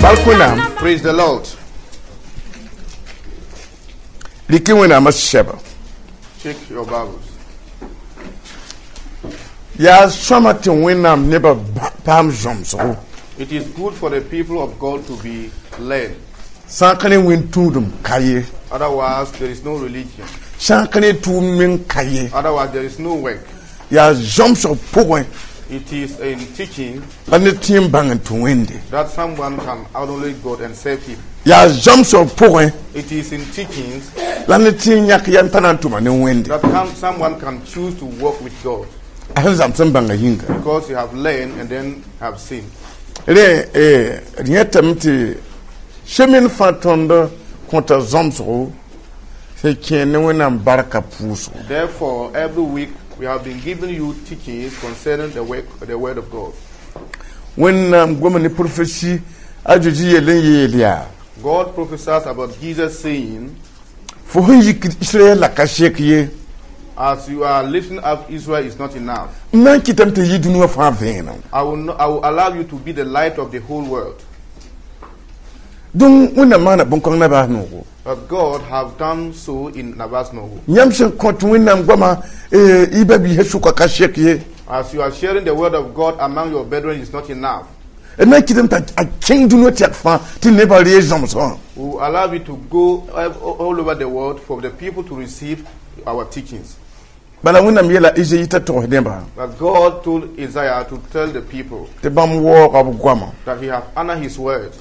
Bark Wẽnnaam. Praise the Lord. Rɩk Wẽnnaamã sɛba. Check your Bibles. Yaa sõama tɩ Wẽnnaam nebã paam zãmsgo. It is good for the people of God to be led. Sã n ka ne wẽn tũudem ka ye. Otherwise, there is no religion. Sã n ka ne tʋʋm meng ka ye. Otherwise, there is no work. Yaa zãmsg pʋgẽ It is in teaching la ned tẽ n bãng n tũ Wẽnde. That someone can acknowledge God and serve Him. Yaa zãmsg pʋgẽ It is in teachings la ned tẽ n yãk yam t'a na n tʋma ne Wẽnde. That someone can choose to work with God A sẽn zãms n bãnga yĩnga. Because you have learned and then have seen. Rẽ d yẽtame tɩ semen fãa tõnd kõta zãmsgo sẽn kẽer ne Wẽnnaam barka pʋʋsgo. Therefore, every week we have been giving you teachings concerning the work, the word of God. Wẽnnaam goma ne profesi a Zeezi yell n yeel yaa: God prophesies about Jesus saying, Fo sẽn yik Israɛl la ka sek ye. "As you are lifting up Israel is not enough. N na n kɩtame tɩ yɩ dũniyã fãa vẽenem. I will, not, I will allow you to be the light of the whole world." Donc Wẽnnaam maana bõn-kãng nabaas noogo. But God have done so in Nabas Nogo. Yãmb sẽn kõt Wẽnnaam goamã y ba-biisã sʋka ka sek ye. As you are sharing the word of God among your brethren is not enough. D na n kɩtame t'a a kẽng dũniyã tɛk fãa tɩ nebã reeg zãmsgã. We will allow you to go all over the world for the people to receive our teachings. Bala Wẽnnaam yeela Izayi t'a togs nebã But God told Isaiah to tell the people tɩ bãmb waooga b goamã that he have honored his word,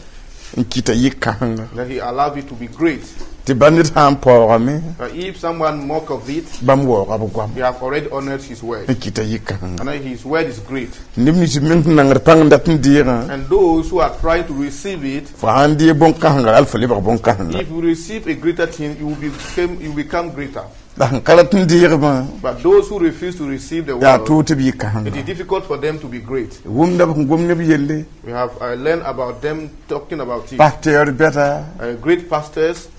n kɩta yɩ kãsenga that he allowed it to be great. Tɩ ba ned sã n paoogame But if someone mock of it, bãmb waooga b goam he have already honored his word. N kɩta yɩ kãsenga. And then his word is great. Neb nins meng sẽn nangd pãng n dat n deegã And those who are trying to receive it, fo sãn deeg bõn-kãsengã al fo lebg bõn-kãsenga. If you receive a greater thing, you become greater. La sẽn ka rat n deegbã But those who refuse to receive the yaa word, toog tɩ b yɩ it kãsenga. Is difficult for them to be great. Wʋmda b sẽn gom neb yelle. We have learned about them talking about it. Pasteur bɛda Great pastors,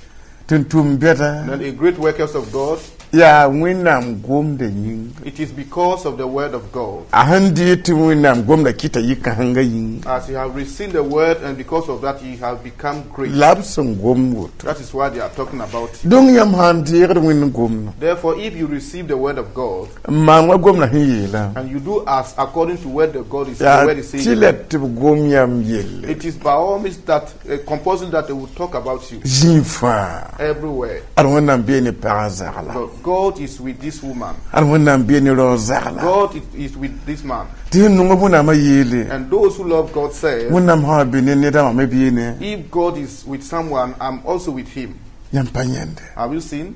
tɩ n tʋm bɛda and a great workers of God. Yaa Wẽnnaam gomda yĩnga. It is because of the word of God. A sẽn deeg tɩ Wẽnnaam gomda kɩta yɩ kãsenga yĩnga. As you have received the word, and because of that, you have become great. La b sẽn gom woto. That is why they are talking about it. Donc yãmb sãn deegd Wẽnd gomdã Therefore, if you receive the word of God n maan wa gomdã sẽn yeelã and you do as according to what the yaa word is tɩ saying, la tɩ b gom yãmb yelle it is by all means that compulsory that they will talk about you zĩig fãa. Everywhere. Ad Wẽnnaam bee ne pagã zagla. But God is with this woman. Ad Wẽnnaam bee ne rao zagla. God is with this man. Tɩ sẽn nong Wẽnnaamã yeele And those who love God say, Wẽnnaam sã wa be ne nedã wã me bee ne. "If God is with someone, I'm also with him." Yãmb pa yãende. Have you seen?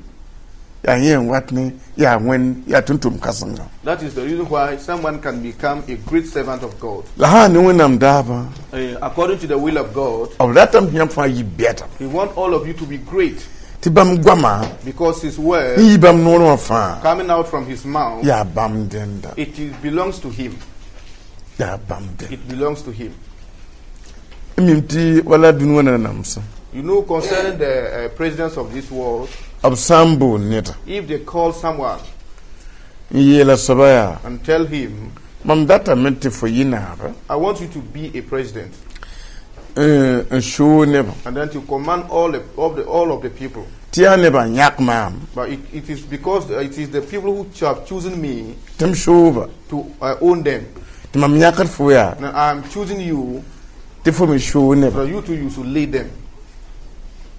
Yaa yẽ n wat ne yaa wẽnd yaa tʋm-tʋm kãsenga. That is the reason why someone can become a great servant of God. La sã n ne Wẽnnaam daabã According to the will of God, b ratame tɩ yãmb fãa yɩ bɛda He wants all of you to be great tɩ bãmb goamã because His word n yɩ bãmb noorẽ wã fãa coming out from His mouth, yaa bãmb dẽnda. It belongs to Him. Yaa bãmb dẽnda. It belongs to Him. N mim tɩ wala dũni wã nanamsã You know, concerning the presidents of this world, b sã n boon neda if they call someone n yeela soaba yaa and tell him, mam datame tɩ fo yɩ naaba "I want you to be a president," n soog nebã and then to command all of the people. Tɩ yaa nebã n yãk maam But it is because it is the people who have chosen me tɩ m sooba to own them. Tɩ mam yãkd fo yaa And I am choosing you tɩ fo me soog nebã so you too you should lead them.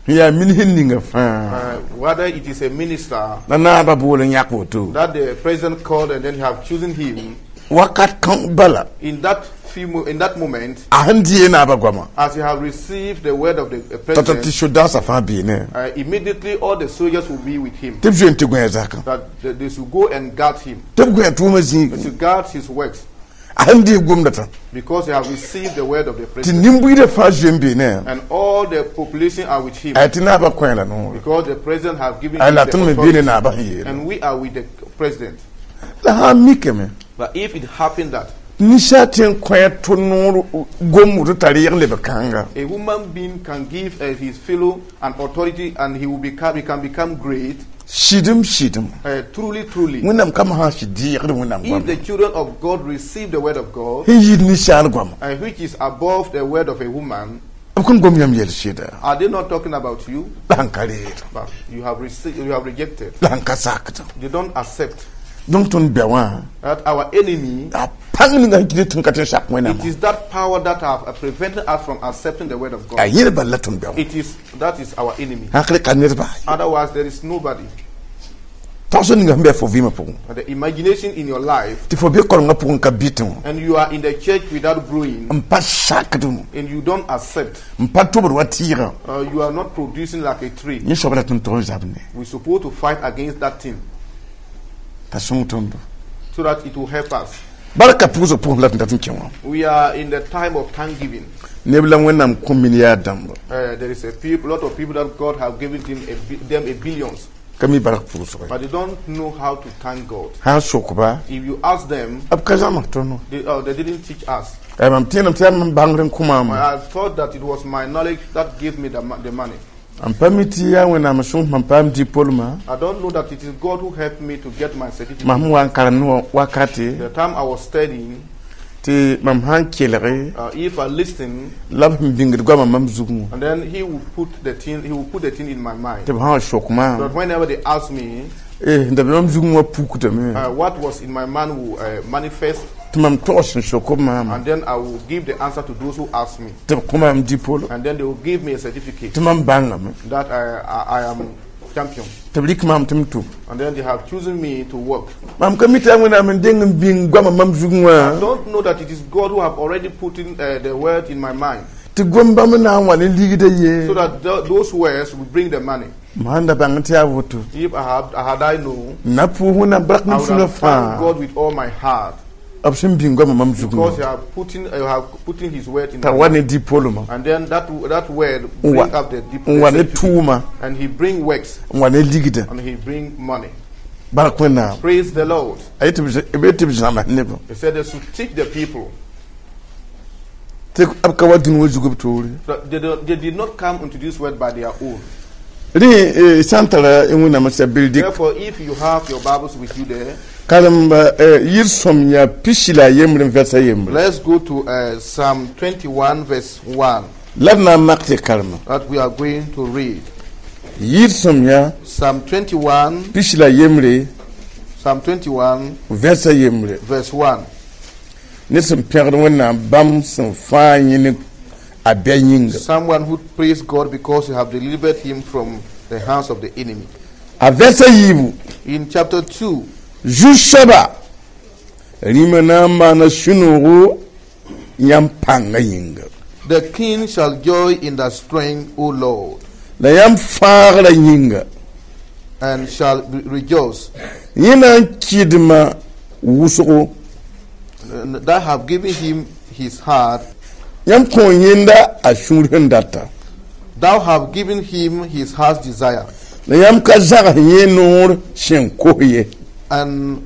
N yaa min sẽn ninga fãa Whether it is a minister la naabã bool n yãk woto that the president called and then he have chosen him wakat kã bala in that moment, a sẽn dɩ naabã goamã as he have received the word of the t'a tɩ president, sodaasã fãa beene immediately all the soldiers will be with him. Tɩ b zoe n tɩ gõe zakã That they should go and guard him. Tɩ b gõe tʋʋmã zĩig They should guard his works a sẽn dɩ gomda tã because they have received the word of the tɩ president. nin-buiidã fãa zoe n beene And all the population are with him a tɩ naabã kõ la noore because the president have given a him la the tõnd me beene authority. naabã sẽn yeele And we are with the president. La sã n mikame But if it happened that ninsaal tɩ n kõ tʋ noor gom woto t'a reeg leb kãnga a human being can give his fellow an authority and he can become great, sɩdem sɩdem truly, truly, Wẽnnaam kam sã sɩ deegd Wẽnnaam if goamã the children of God receive the word of God, sẽn yɩɩd ninsaal goamã which is above the word of a woman, B kõn gom yãmb yɛl sɩda? Are they not talking about you? La sẽn ka reed. But you have received, you have rejected. La sẽn ka sakd. They don't accept Donc tõnd bɛ wã that our enemy. A pãng ninga sẽn kɩt tɩ ka tɩ n sak Wẽnnaamã. It is that power that have prevented us from accepting the word of A God. yẽd bal la tõnd bɛ wã. It is that is our enemy. Hakl ka ned baa ye. Otherwise, there is nobody. Tagsg ninga sẽn bɩ fo vɩɩmã pʋgẽ And the imagination in your life, tɩ fo be korengã pʋgẽ ka bɩ tɩ wã and you are in the church without growing, n pa sakd and you don't accept. n pa tobd wa tɩɩgã. You are not producing like a tree. Yẽ soab la tõnd tog n zab ne We're supposed to fight against that thing t'a sõng tõndo. So that it will help us. Barka pʋʋsg pʋgẽ la tɩ dat n kẽ wã. We are in the time of thanksgiving. Neb la Wẽnnaam kõ milliard dãmba There is a lot of people that God have given them a billions, ka mi bark pʋʋsg. But they don't know how to thank God. Sã n sokba If you ask them, b ka zãms tõnd. they didn't teach us. Mam tẽedame tɩ yaa mam bãngr n kõ maam. I thought that it was my knowledge that gave me the money. M pa mi tɩ yaa Wẽnnaam sõs mam paam diplômã. I don't know that it is God who helped me to get my certificate. Mam sẽn wa n karemd wã wakate The time I was studying, tɩ mam sã n kelge if I listen, la b sẽn bĩngd goamã mam zugẽ wã and then he will put the thing in my mind. tɩ b sã n sok maam But whenever they ask me, eh, n da be mam zugẽ wã pukdame what was in my mind will manifest, tɩ mam togs n sok b maama and then I will give the answer to those who ask me. Tɩ b kõ maam diplôme And then they will give me a certificate tɩ mam bãngame that I am champion. Tɩ b rɩk maam tɩ m tʋm. And then they have chosen me to work. Mam ka mi tɩ yaa Wẽnnaam n deng n bĩng goamã mam zugẽ I wã don't know that it is God who have already put in the word in my mind tɩ gom bãmb na n wa ne ligdã ye. So that those words will bring the money. M sãn da bãng tɩ yaa woto If I have, had I known, n na pʋʋs Wẽnnaam bark I ne would sũurã have thanked fãa God with all my heart b sẽn bĩng goamã mam zugẽ because wã you have put in His word in t'a my wa mind. ne diplômã And then that word n wa bring up the deep n wa ne tʋʋma and He bring works n wa ne ligdã. And He bring money. Bark Wẽnnaam. Praise the Lord. A yetɩ b yetɩ b zãms nebã He said they should teach the people. Tɩ b ka wa dũni wã zug b toore. So they did not come into this world by their own. Rẽ sã n tara Wẽnnaam sã bildik Therefore, if you have your Bibles with you there, karemba yir sõm yaa 11 n vɛrsa yembre. Let's go to Psalm 21, verse 1, La d na n mak tɩ karema that we are going to read. Yir sõm yaa Psalm 21, 11 Psalm 21, vɛrsa yembre. Verse 1. Ne sẽn pẽgd Wẽnnaam bãmb sẽn fãa yẽne a bɛ yĩnga. Someone who praised God because He have delivered him from the hands of the enemy. A vɛrsa yiibu. In chapter 2, Zu-soaba rĩmã na n maana sũ-noogo yãmb pãngã yĩnga. The king shall joy in thy strength, O Lord, La yãmb fãagrã yĩnga and shall rejoice. Yẽ na n kɩdma wʋsgo. And thou have given him his heart. Yãmb kõ yẽnda a sũur sẽn data. Thou have given him his heart's desire, La yãmb ka zags yẽ noor sẽn kos ye. and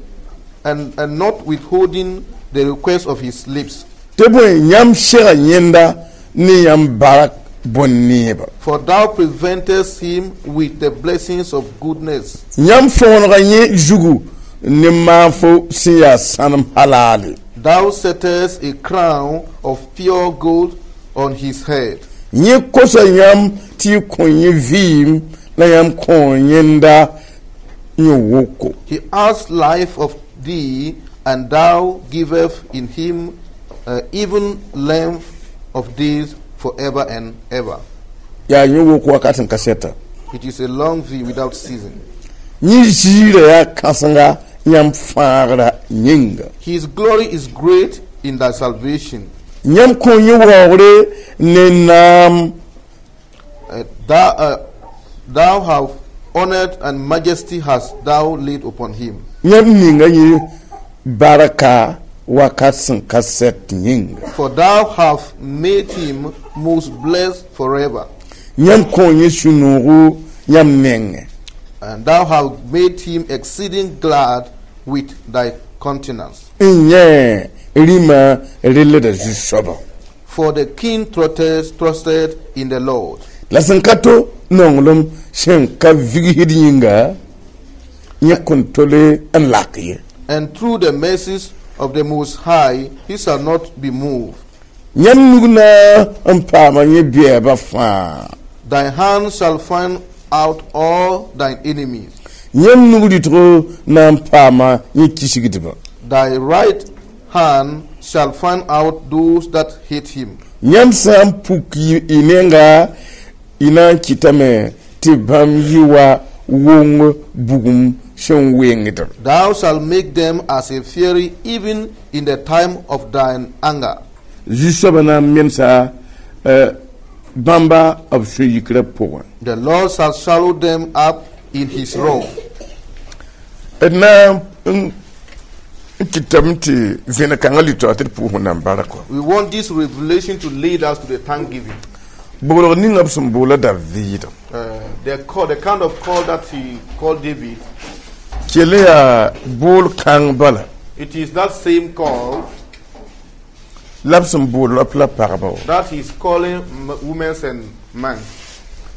not withholding the request of his lips. Tɩ bõe yãmb sega yẽnda ne yãmb barak bõn-neeba. For thou preventest him with the blessings of goodness. Yãmb fõonega yẽ zugu ne maafo sẽn yaa sãnem halaale. Thou settest a crown of pure gold on his head. Yẽ kosa yãmb tɩ y kõ yẽ vɩɩm la yãmb kõ yẽnda yẽ woko. He asked life of thee, and thou givest in him even length of days forever and ever. Yaa yẽ woko wakat sẽn ka sɛta. It is a long view without season. Yẽ ziirã yaa kãsenga yãmb fãagra yĩnga. His glory is great in thy salvation. Yãmb kõ yẽ waoogre ne naam. Thou have honored and majesty hast thou laid upon him. Yãmb ninga yẽ barka wakat sẽn ka sɛt yĩnga. For thou hast made him most blessed forever. Yãmb kõ yẽ sũ-noogo yãmb nengẽ. And thou hast made him exceeding glad with thy countenance. N yẽ rĩmã rellda zu-soabã. For the king trusted in the Lord. La sẽn ka to nonglem sẽn ka vigsd yĩnga yẽ kõn tole n lak ye. And through the mercies of the Most High, he shall not be moved. Yãmb nug na n paama yẽ bɛɛbã fãa. Thy hand shall find out all thine enemies. Yãmb nug rɩtgo na n paama yẽ kisgdbã. Thy right hand shall find out those that hate him. Yãmb sã n puk y nenga, y na n kɩtame tɩ bãmb yɩ wa wong bugum sẽn wengdb. Thou shalt make them as a fury even in the time of thine anger. Zu-soabã na n mensa bãmba b sũ-yikrã pʋgẽ. The Lord shall swallow them up in his wrath. D na n kɩtame tɩ vẽne-kãngã lɩ-taoor tɩ d pʋʋs Wẽnnaam barka. We want this revelation to lead us to the thanksgiving. Boolg ninga b sẽn boola Daviid. The kind of call that he called David, Kell yaa bool kãng bala it is that same call la b sẽn bool rap la pagba wã. That he is calling women and men.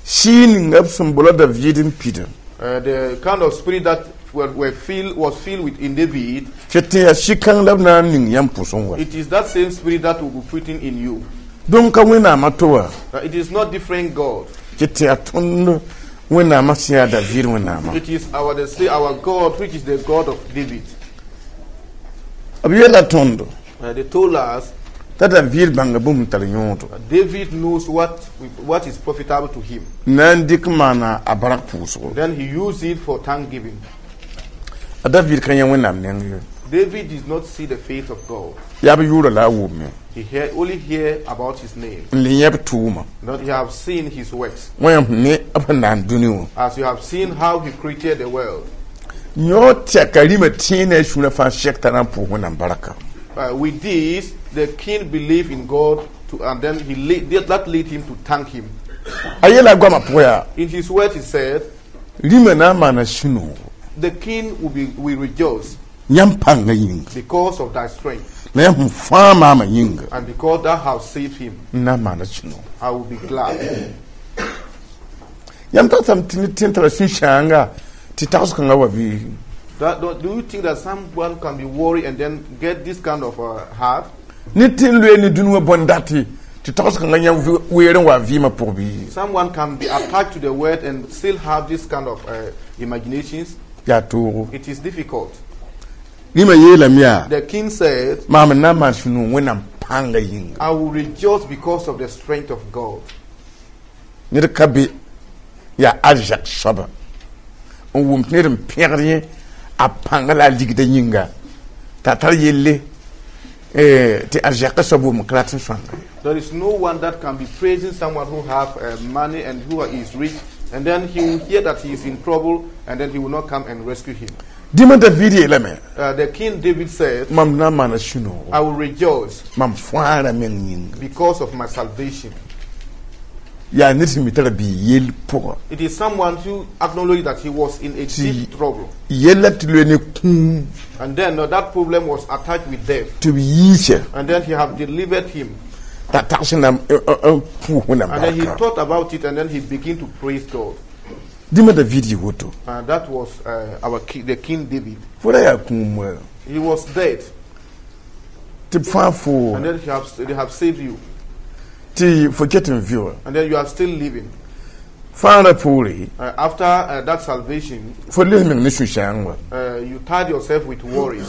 Sɩɩg ninga b sẽn boola Daviid n pidã. The kind of spirit that were filled, was filled with in David, Tɩ tɩ yaa sɩ-kãng la b na n ning yãmb pʋsẽ wa. It is that same spirit that will be putting in you. Donc ka Wẽnnaamã to wa. It is not different God. Tɩ tɩ yaa tõnd Wẽnnaamã sẽn yaa Daviid Wẽnnaamã. It is our the, say, our God, which is the God of David. B yeela tõndo They told us t'a Daviid bãnga bũmb n tar yõodo. That David knows what is profitable to him. Na n dɩk maana a bark pʋʋsgo. Then he used it for thanksgiving. A Daviid ka yã Wẽnnaam neng ye. David did not see the face of God. Yaa b yʋʋra la a wʋmme. He only hear about his name. N le yẽ b tʋʋma. Not he have seen his works. Wã ne b sẽn na n dũni wã. As you have seen how he created the world. Yõ tɛka rĩmã tẽe ne a sũurã fãa sɛk t'a na n pʋʋs Wẽnnaam barka. With this, the king believed in God, and then that led him to thank him. A yeela a goamã pʋgã yaa In his words, he said, rĩmã na n maana sũ-noogo. The king will rejoice Yãmb pãngã yĩnga. Because of thy strength, La yãmb sẽn fãa maamã yĩnga. And because thou hast saved him. N na n maana sũ-noogo. I will be glad. Yãmb tagsame tɩ ned tõe n tara sũ-sãanga tɩ tags-kãngã wa bɩ? Do you think that someone can be worried and then get this kind of heart? Ned tɩ n loe ne dũni wã bõn-date tɩ tags-kãngã yã weer n wa vɩɩmã pʋg bɩ? Someone can be attached to the world and still have this kind of imaginations? Yaa toogo. It is difficult. Rĩmã yeelame yaa The king said, maam n na n maan sũ-noog Wẽnnaam pãngã yĩnga. I will rejoice because of the strength of God. Ned ka be yaa arzɛk soaba n wʋm tɩ ned n pẽgd yẽ a pãnga la a ligda yĩnga t'a tar yelle tɩ arzɛkã soab wʋm ka rat n sõanga. There is no one that can be praising someone who have money and who is rich, and then he will hear that he is in trouble, and then he will not come and rescue him. Dĩmã David yeelame The king David said, mam na n maana sũ-noogo I will rejoice mam fãara meng yĩnga. Because of my salvation. Yaa ned sẽn mi tara bɩ yell pʋga. It is someone who acknowledged that he was in a See. Deep trouble. Yella tɩ loe ne kũum. And then that problem was attached with death. Tɩ b yiisa. And then he have delivered him. T'a tags n na n pʋʋs Wẽnnaam And then he barka. Thought about it and then he began to praise God. Dĩmã David yɩ woto. And that was the king David. Fo ra yaa kũum wɛ. He was dead. Tɩ b fãa fo. And then they have saved you. Tɩ fo ket n vɩ wã. And then you are still living. Fãagrã poore After that salvation, fo les meng ne sũ-sãang wã. You tied yourself with worries.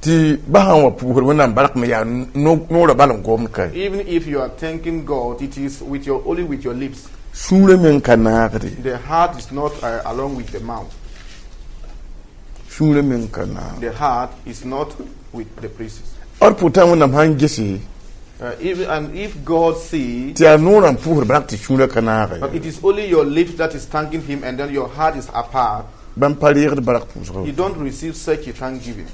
Tɩ ba sã n wa pʋʋsd Wẽnnaam bark me yaa noorã bal n gomd ka. Even if you are thanking God, it is with your only with your lips. Sũurã meng ka naagde. The heart is not along with the mouth. Sũurã meng ka naag. The heart is not with the praises. D pʋtã Wẽnnaam sãn gese Even, and if God see tɩ yaa noorã n pʋʋsd bark tɩ sũurã ka naage. But it is only your lips that is thanking him and then your heart is apart, Bãmb pa reegd bark pʋʋsgã. You don't receive such a thanksgiving.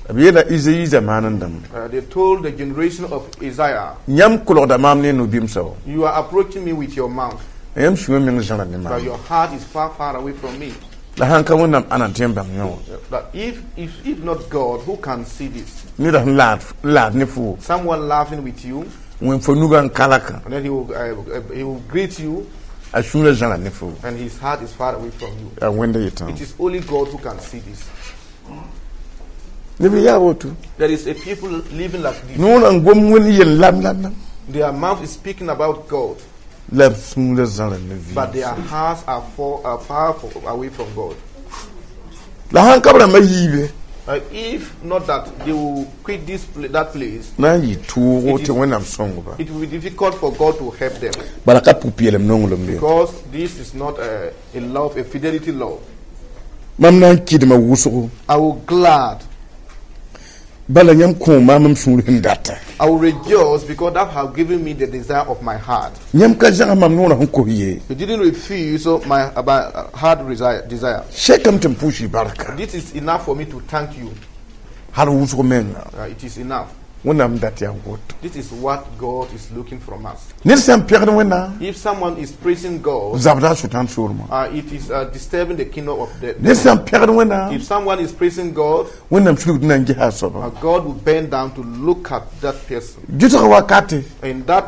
B yeela Izayi zamaan n dãmb. They told the generation of Isaiah, Yãmb kolgda maam ne no-bimsã wã. You are approaching me with your mouth, Yãmb sũurã meng zãra ne but maam. Your heart is far, far away from me. La sãn ka Wẽnnaam ãna n tõe n bãng yõ wã. But if not God, who can see this? Ned sẽn laad ne fo. Someone laughing with you, Wẽn fo nugã n kalaka. And then he will greet you, A sũurã zãra ne fo. And his heart is far away from you. Yaa Wẽnda yetã. It is only God who can see this. Neb n yaa woto. There is a people living like this. Noorã n gom wẽnd yel lam lam lam. Their mouth is speaking about God, La b sũurã zãra ne but vɩɩm. Their hearts are far away from God. La sãn ka b rãmbã yiibe If not that they will quit that place, na n yɩ toogo tɩ Wẽnnaam sõng ba. It will be difficult for God to help them Bala ka pʋ-peelem nonglem ye. Because this is not a love, a fidelity love. Mam na n kɩdma wʋsgo. I will glad, Bala yãmb kõ maam m sũur sẽn data. I will rejoice because thou have given me the desire of my heart. Yãmb ka zãgs mam noorã sẽn kos ye. You didn't refuse my heart desire. Sɛkame tɩ m pʋʋs y barka. This is enough for me to thank you. Hal wʋsg menga. It is enough. Wẽnnaam dat yaa woto. This is what God is looking from us. Ned sã n pẽgd Wẽnnaam If someone is praising God, zabda a Sʋtãan soolmã. It is disturbing the kingdom of the. Ned sã n pẽgd Wẽnnaam If someone is praising God, Wẽnnaam sulgd na n gesa a soaba. God will bend down to look at that person. Gɩsg wakate In that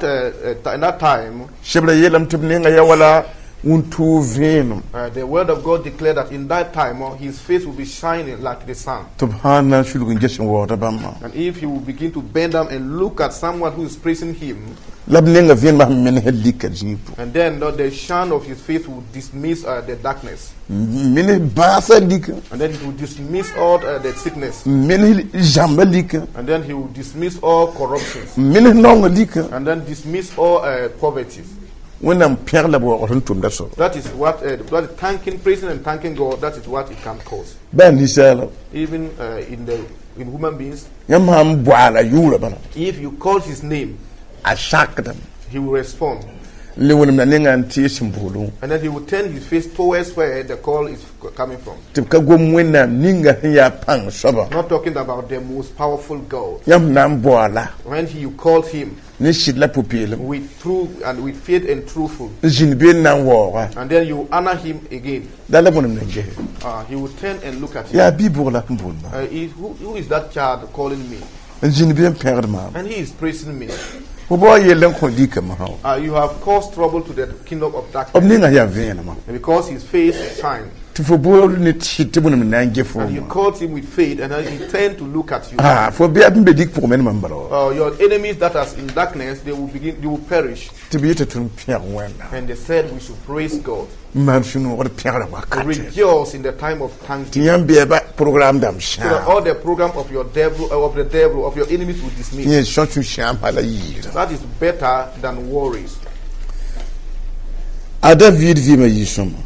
time, sebra yeelame tɩ b nenga yaa wala wũntoog vẽenem. The word of God declared that in that time his face will be shining like the sun. Tɩ b sã n na n sulg n ges n waoogda bãmbã. And if he will begin to bend down and look at someone who is praising him, La b nenga vẽenemã sẽn menesd lika zĩig pʋgẽ. And then the shine of his face will dismiss the darkness. Menes bãasã lika. And then it will dismiss all the sickness. Menes zãmbã lika. And then he will dismiss all corruptions. Menes naongã lika. And then dismiss all poverty. Wẽnnaam pẽg la b waoogd sẽn tʋmda soaba. That is what thanking, praising and thanking God, that is what it can cause. Baa ninsaala. Even in human beings, Yãmb sã n boaala yʋʋrã bala. If you call his name, A sakdame. He will respond. N le wẽnem la nengã n tees n boolẽ. And then he will turn his face towards where the call is coming from. Tɩ b ka gom Wẽnnaam ninga sẽn yaa pãng soaba. Not talking about the most powerful God. Yãmb na n boaala. When you called him Ne sɩd la pʋ-peelem. With true and with faith and truthful, N zĩnd be n na n waooga. And then you honor him again. La la wẽnem na n gese. He will turn and look at you. Yaa bi-bʋgla sẽn boond maam. Who is that child calling me? N zĩnd be n pẽgd maam. And he is praising me. Fo bao yell n kõ lika masã wã. You have caused trouble to the kingdom of B darkness nengã yaa vẽenemã. Because his face shines. Tɩ fo bool ne sɩd tɩ wẽnem na n ge And you foomã. called him with faith, and then he turned to look at you. Ah, fo bɩ b n be lik pʋgẽ me ne mam bala wa. Your enemies that are in darkness, they will perish. Tɩ b yeta tɩ n pẽg Wẽnnaam. And they said we should praise God. N maan sũ-noogd pẽgrã wakate. Rejoice in the time of Tɩ thanksgiving. yãmb bɩa programme dãmb So that sãam. all the program of your devil, of the devil, of your enemies will dismiss. Yẽ sõ sũ-sãam hala yiira. That is better than worries. A David vɩɩmã yɩ sõma.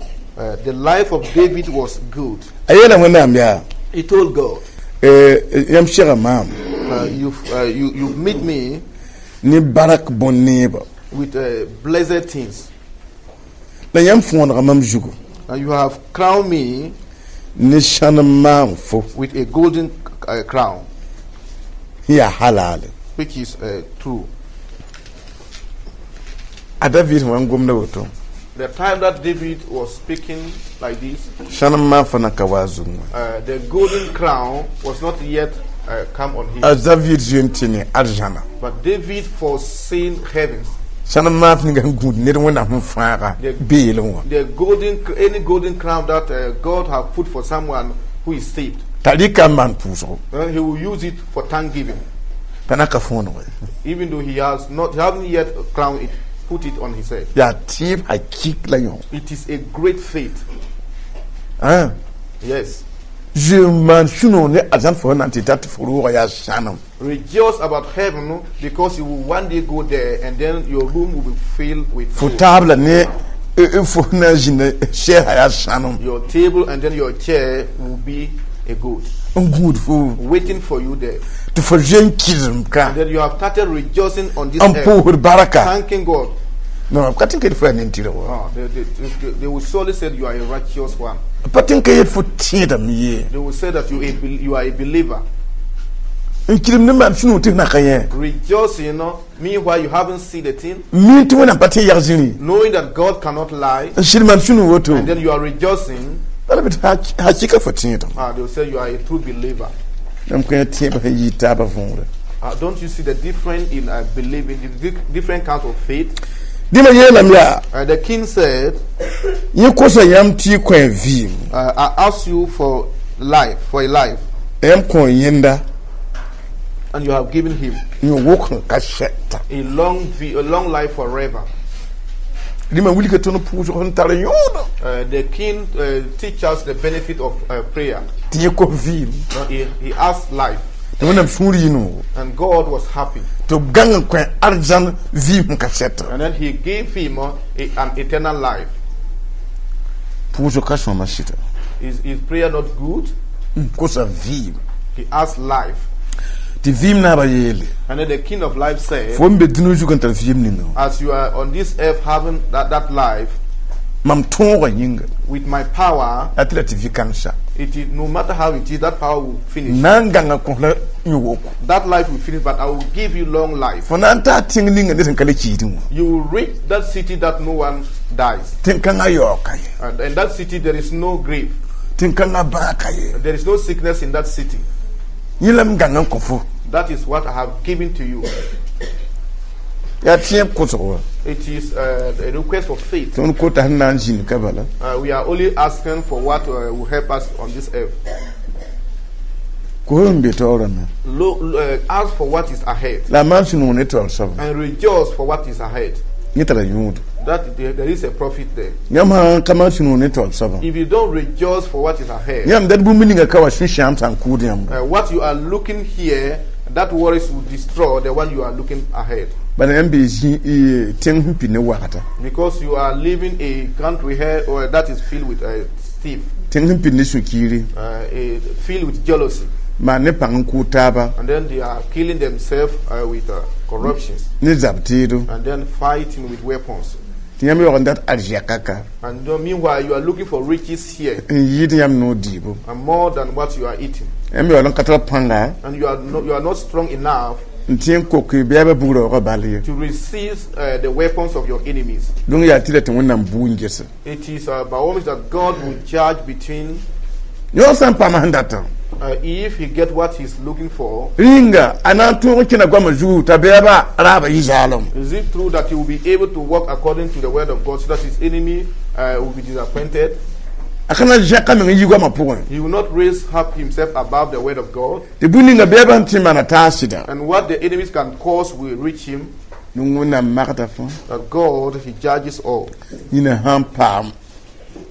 The life of David was good. A yeela Wẽnnaam yaa. He told God, Yãmb sega maam. You've made me Ne barak bõn-neeba. With blessed things. La yãmb fõonega mam zugu. And you have crowned me Ne sãnem maam fo. With a golden crown, Sẽn yaa halaale. Which is true. A David sẽn wa n gomda woto. The time that David was speaking like this, Sãnem maam fã na ka wa a zug wã. The golden crown was not yet come on him. A David zoe n tɩ ne arzãna. But David foreseen heavens. Sãnem maam ninga sẽn gũud ned Wẽnnaam sẽn fãaga beelẽ wã. The golden, any golden crown that God have put for someone who is saved, T'a rɩka n maan pʋʋsgo. He will use it for thanksgiving. T'a na ka fõonego. Even though he hasn't yet crowned it, put it on his head. Yaa tẽeb hakik la yõ. It is a great faith. Ah. Yes. Zoe n maan sũ-noog ne arzãn fo sẽn na n tɩ tat fo roogã yaa sãnem. Rejoice about heaven because you will one day go there and then your room will be filled with Fo food. taabla ne fo sẽn na n zĩnd sɛɛsã yaa sãnem. Your table and then your chair will be a good N gũud fo. Waiting for you there. Tɩ fo zoe n kɩsem ka. And then you have started rejoicing on this N earth, pʋʋsd baraka. Thanking God. Non, b ka tɩ n ka yet fo yaa nin-tɩrg wa. Ah, they will surely say you are a righteous one. B pa tɩ n ka yet fo tẽedame ye. They will say that you are a believer. N kɩrem ne maan sũ-noog tɩ f na ka yẽ. Rejoicing, meanwhile you haven't seen the thing, Mi tɩ Wẽnnaam pa tɩ n yag zĩri. Knowing that God cannot lie, N sɩd maan sũ-noog woto. And then you are rejoicing. Bala bɩ tɩ hakɩka fo tẽedem. Ah, they will say you are a true believer. Yãmb kõ tẽebã sẽn yɩ taabã võore. Don't you see the difference in believing, the different kinds of faith? Dĩmã yeelame yaa. The king said, Yẽ kosa yãmb tɩ y kõ vɩɩm. I ask you for life, for a life. Yãmb kõ yẽnda And you have given him yõ-wok sẽn ka sɛta. a long life forever. Rĩmã wilga tõnd pʋʋsg sẽn tar yõodo. The king teach us the benefit of prayer. Tɩ yẽ kos vɩɩm. Now, he asked life, Tɩ Wẽnnaam sũur yɩ noogo. And God was happy. Tɩ b gãng n kõ arzãn vɩɩm sẽn ka sɛta. And then he gave him an eternal life. Pʋʋsg ka sõama sɩda. Is prayer not good? N kosa vɩɩm. He asked life. Tɩ vɩɩm naabã yeele. And then the king of life said, Fo n be dũni zug n tar vɩɩm ninga wã. "As you are on this earth having that life, Mam tõogã yĩnga. With my power, A tɩ la tɩ vɩ-kãngsa. It is, no matter how it is, that power will finish. Na n gãnga kõs la yõ-woko. That life will finish, but I will give you long life. Fo na n taa tẽng ninga ned sẽn ka le kiidẽ wã. You will reach that city that no one dies. Tẽn-kãngã yaoog ka ye. And in that city, there is no grave. Tẽn-kãngã bãag ka ye. There is no sickness in that city. Yẽ la m gãng n kõ fo. That is what I have given to you. Yaa tẽeb kʋsg wa. It is a request of faith. Tõnd kota sẽn na n zĩnd ka bala. We are only asking for what will help us on this earth. Kos n be taoorame. Ask for what is ahead La a maan sũ-noog ne taoor soaba. And rejoice for what is ahead. Yẽ tara yõodo. That there is a profit there. Yãmb sã n ka maan sũ-noog ne taoor soabã. If you don't rejoice for what is ahead, Yãmb dat bũmb ninga ka wa sũ-sãam sã n kʋʋd yãmba. What you are looking here, that worries will destroy the one you are looking ahead. Bala yãmb bee zĩ tẽng sẽn pid ne wagda. Because you are living a country here or that is filled with thief, Tẽng sẽn pid ne sũ-kiire. Filled with jealousy, Maan ne pãng n kʋʋd taaba. And then they are killing themselves with corruptions, Ne zab teedo. And then fighting with weapons. Tɩ yãmb yaoog n dat arzɛka ka. And then meanwhile, you are looking for riches here N yɩɩd yãmb noor dɩɩbo. And more than what you are eating. Yãmb yaool n ka tar pãnga. And you are not strong enough N tẽ n kok bɛɛbã bugra bal ye. To resist the weapons of your enemies. Dũng yaa tɩ la tɩ Wẽnnaam buu n gese. It is by all means that God will judge between Yõ sã n paam sẽn datã. If he get what he's looking for. Rĩnga a na n tõog n kẽna goamã zugu t'a bɛɛba raabã yɩ zaalem. Is it true that he will be able to walk according to the word of God so that his enemy will be disappointed? A ka na n zẽka meng n yi goamã pʋgẽ. He will not raise up himself above the word of God. Tɩ bũmb ninga bɛɛbã sẽn tẽ n maana taas sɩda. And what the enemies can cause will reach him. Wẽnnaam magda fãa. That God, he judges all. Yĩna sã n paam.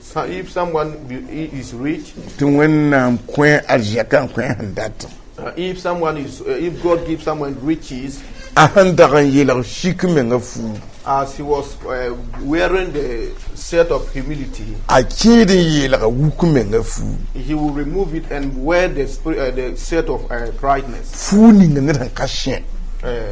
So if someone is rich, Tɩ Wẽnnaam kõ arzɛka n kõ sẽn datã. If God gives someone riches, A sẽn dag n yeelg sik menga fuug. As he was wearing the shirt of humility, A kẽed n yeelga wuk menga fuug. He will remove it and wear the shirt of brightness. Fuug ninga ned sẽn ka sẽ.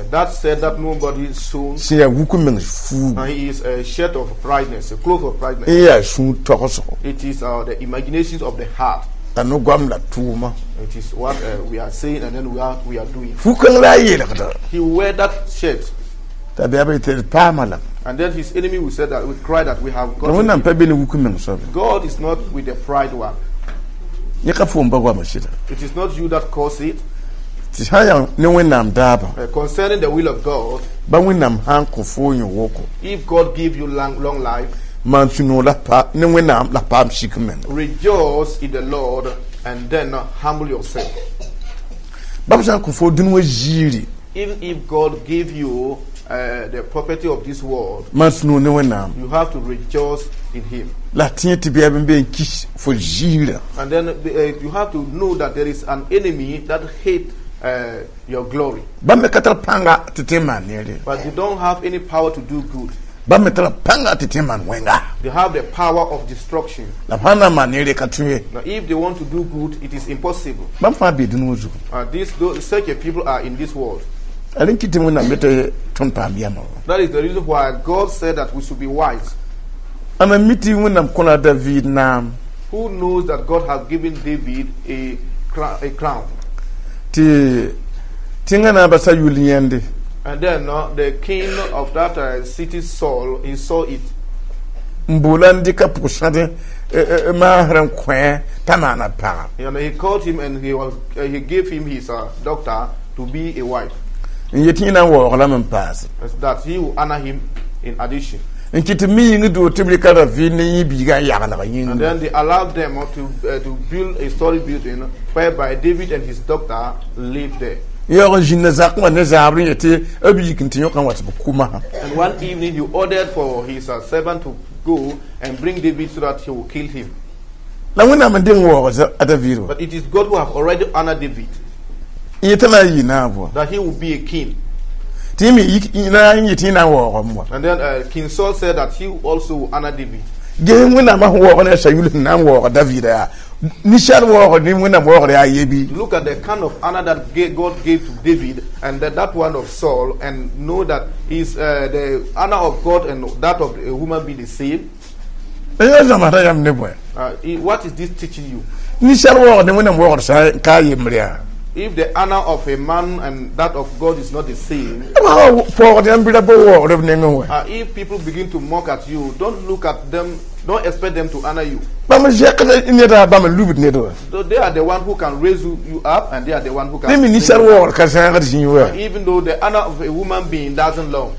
That said that nobody soon. Sẽn yaa wuk meng fuug. He is a shirt of brightness, a cloth of brightness. N yaa sũur togsgo. It is the imaginations of the heart. La no-goam la tʋʋma. It is what we are saying and then we are doing. Fu-kãng la a yeelgda. He will wear that shirt. T'a bɛɛba yetɩ d paama lame. And then his enemy will say that we cry that we have Tɩ got Wẽnnaam him. pa be ne wuk meng soabe. God is not with the pride one. Yẽ ka foom pa goamã sɩda. It is not you that cause it. Tɩ sã n yaa ne Wẽnnaam daabã. Concerning the will of God, Ba Wẽnnaam sã n kõ foo yõ-woko. If God give you long, long life, Maan sũ-noog la pa ne Wẽnnaam la paam sik menga. Rejoice in the Lord and then humble yourself. Ba b sã n kõ foo dũni wã ziiri. Even if God give you the property of this world, Maan sũ-noog ne Wẽnnaam. You have to rejoice in Him. La tẽ tɩ bɛɛb n be n kis fo ziirã. And then you have to know that there is an enemy that hate your glory, Bãmb me ka tar pãnga tɩ tõe n maan neere. But they don't have any power to do good. Bãmb me tara pãnga tɩ tõe n maan wẽnga. They have the power of destruction. La b sã n na n maan neere ka tõe ye. Now, if they want to do good, it is impossible. Bãmb fãa bee dũni wã zugu. Such a people are in this world. A rẽn kɩ tɩ Wẽnnaam be tɩ tõnd paam yɛma wã. That is the reason why God said that we should be wise. Ãmba mi tɩ Wẽnnaam kõla David naam. Who knows that God has given David a crown? Tɩ tẽngã naabã sa yʋl yẽnde. And then the king of that city, Saul, he saw it. N boola n dɩka pʋg-sãd maasr n kõ t'a maana paga. And he called him and he gave him his daughter to be a wife. N yet yẽ na n waoog lame n paase. That he will honor him in addition. N kɩ tɩ mi yĩng doog tɩ b rɩka David ne yẽ biigã n yaglg And yĩnga. then they allowed them to build a story building whereby David and his daughter lived there. Yaoog n zĩnda zakẽ wã ne zaabr n yetɩ b yik n tɩ yõk n wa tɩ b kʋ masã. And one evening he ordered for his servant to go and bring David so that he will kill him. La Wẽnnaam n deng waoog a David wã. But it is God who have already honored David N yetã na n yɩ naab wã. That he will be a king. Tɩ yẽ me yik na n yetɩ yẽ na n waoogame wã. And then King Saul said that he also will honor David. Ges Wẽnnaamã sẽn waoog ne a Sayul sẽn na n waoog David yaa ninsaal waoogr ne Wẽnnaam waoogr yaa yebi. Look at the kind of honor that God gave to David and that one of Saul, and know that is the honor of God and that of a human being the same. La yã zãmsda yãmb ne bõe? What is this teaching you? Ninsaal waoogr ne Wẽnnaam waoogr sã n ka yembre yaa. If the honor of a man and that of God is not the same, B sã wa paoogd yãmb bɩ ra pa waoogd b nengẽ wã. If people begin to mock at you, don't look at them, don't expect them to honor you. Bãmb zɛkd neda bãmb n lubd ned wã. So they are the one who can raise you up, and they are the one who can Ne me bring ninsaal you down. waoogr ka zãagd zĩig wã. Even though the honor of a human being doesn't long.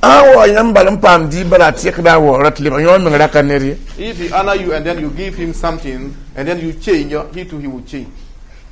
A wa yãmb bal n paam dɩɩb bala a tɩkda a waoora tɩ lebg yõ meng ra ka ned ye. If he honor you and then you give him something and then you change, he too he will change.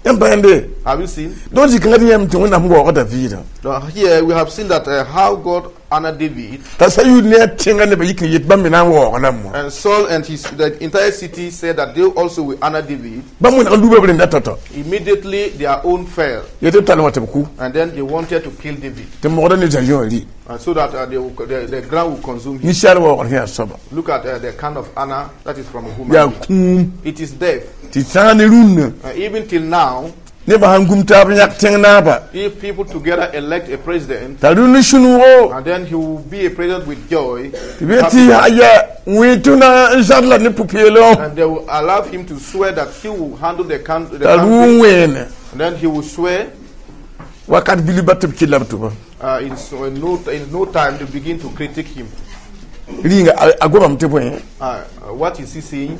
Yãmb pa yẽnde. Have you seen? Donc zĩ-kãngã tɩ yãmb tɩ Wẽnnaam waooga Daviidã. Now, here we have seen that how God honored David. T'a Sayul ne a tẽngã nebã yik n yet bãmb me na n waoog lame wã. And Saul and his the entire city said that they also will honor David. Bãmb wẽneg n luba b rẽnda tao-tao. Immediately their own fell, Yetɩ b tall wã tɩ b kʋ. And then they wanted to kill David, Tɩ mogda ne zã-yõ wã rɩ. and so that the ground will consume him. Ninsaal waoogr sẽn yaa soaba. Look at the kind of honor that is from a human Yaa being. kũum. It is death. Tɩ sãag ne rũnnã. Even till now, Nebã sãn gum taab n yãk tẽng naaba. If people together elect a president, T'a rũnd sũ-noogo. And then he will be a president with joy, Tɩ b yet tɩ aya wẽ tɩ na n zad la ne pʋ-peelem. And they will allow him to swear that he will handle the T'a country, rʋ n wẽene. And then he will swear Wakat bilib ba tɩ b kɩlla b tʋba. In no time to begin to critique him. Rĩnga a gomame tɩ bõe. What is he saying?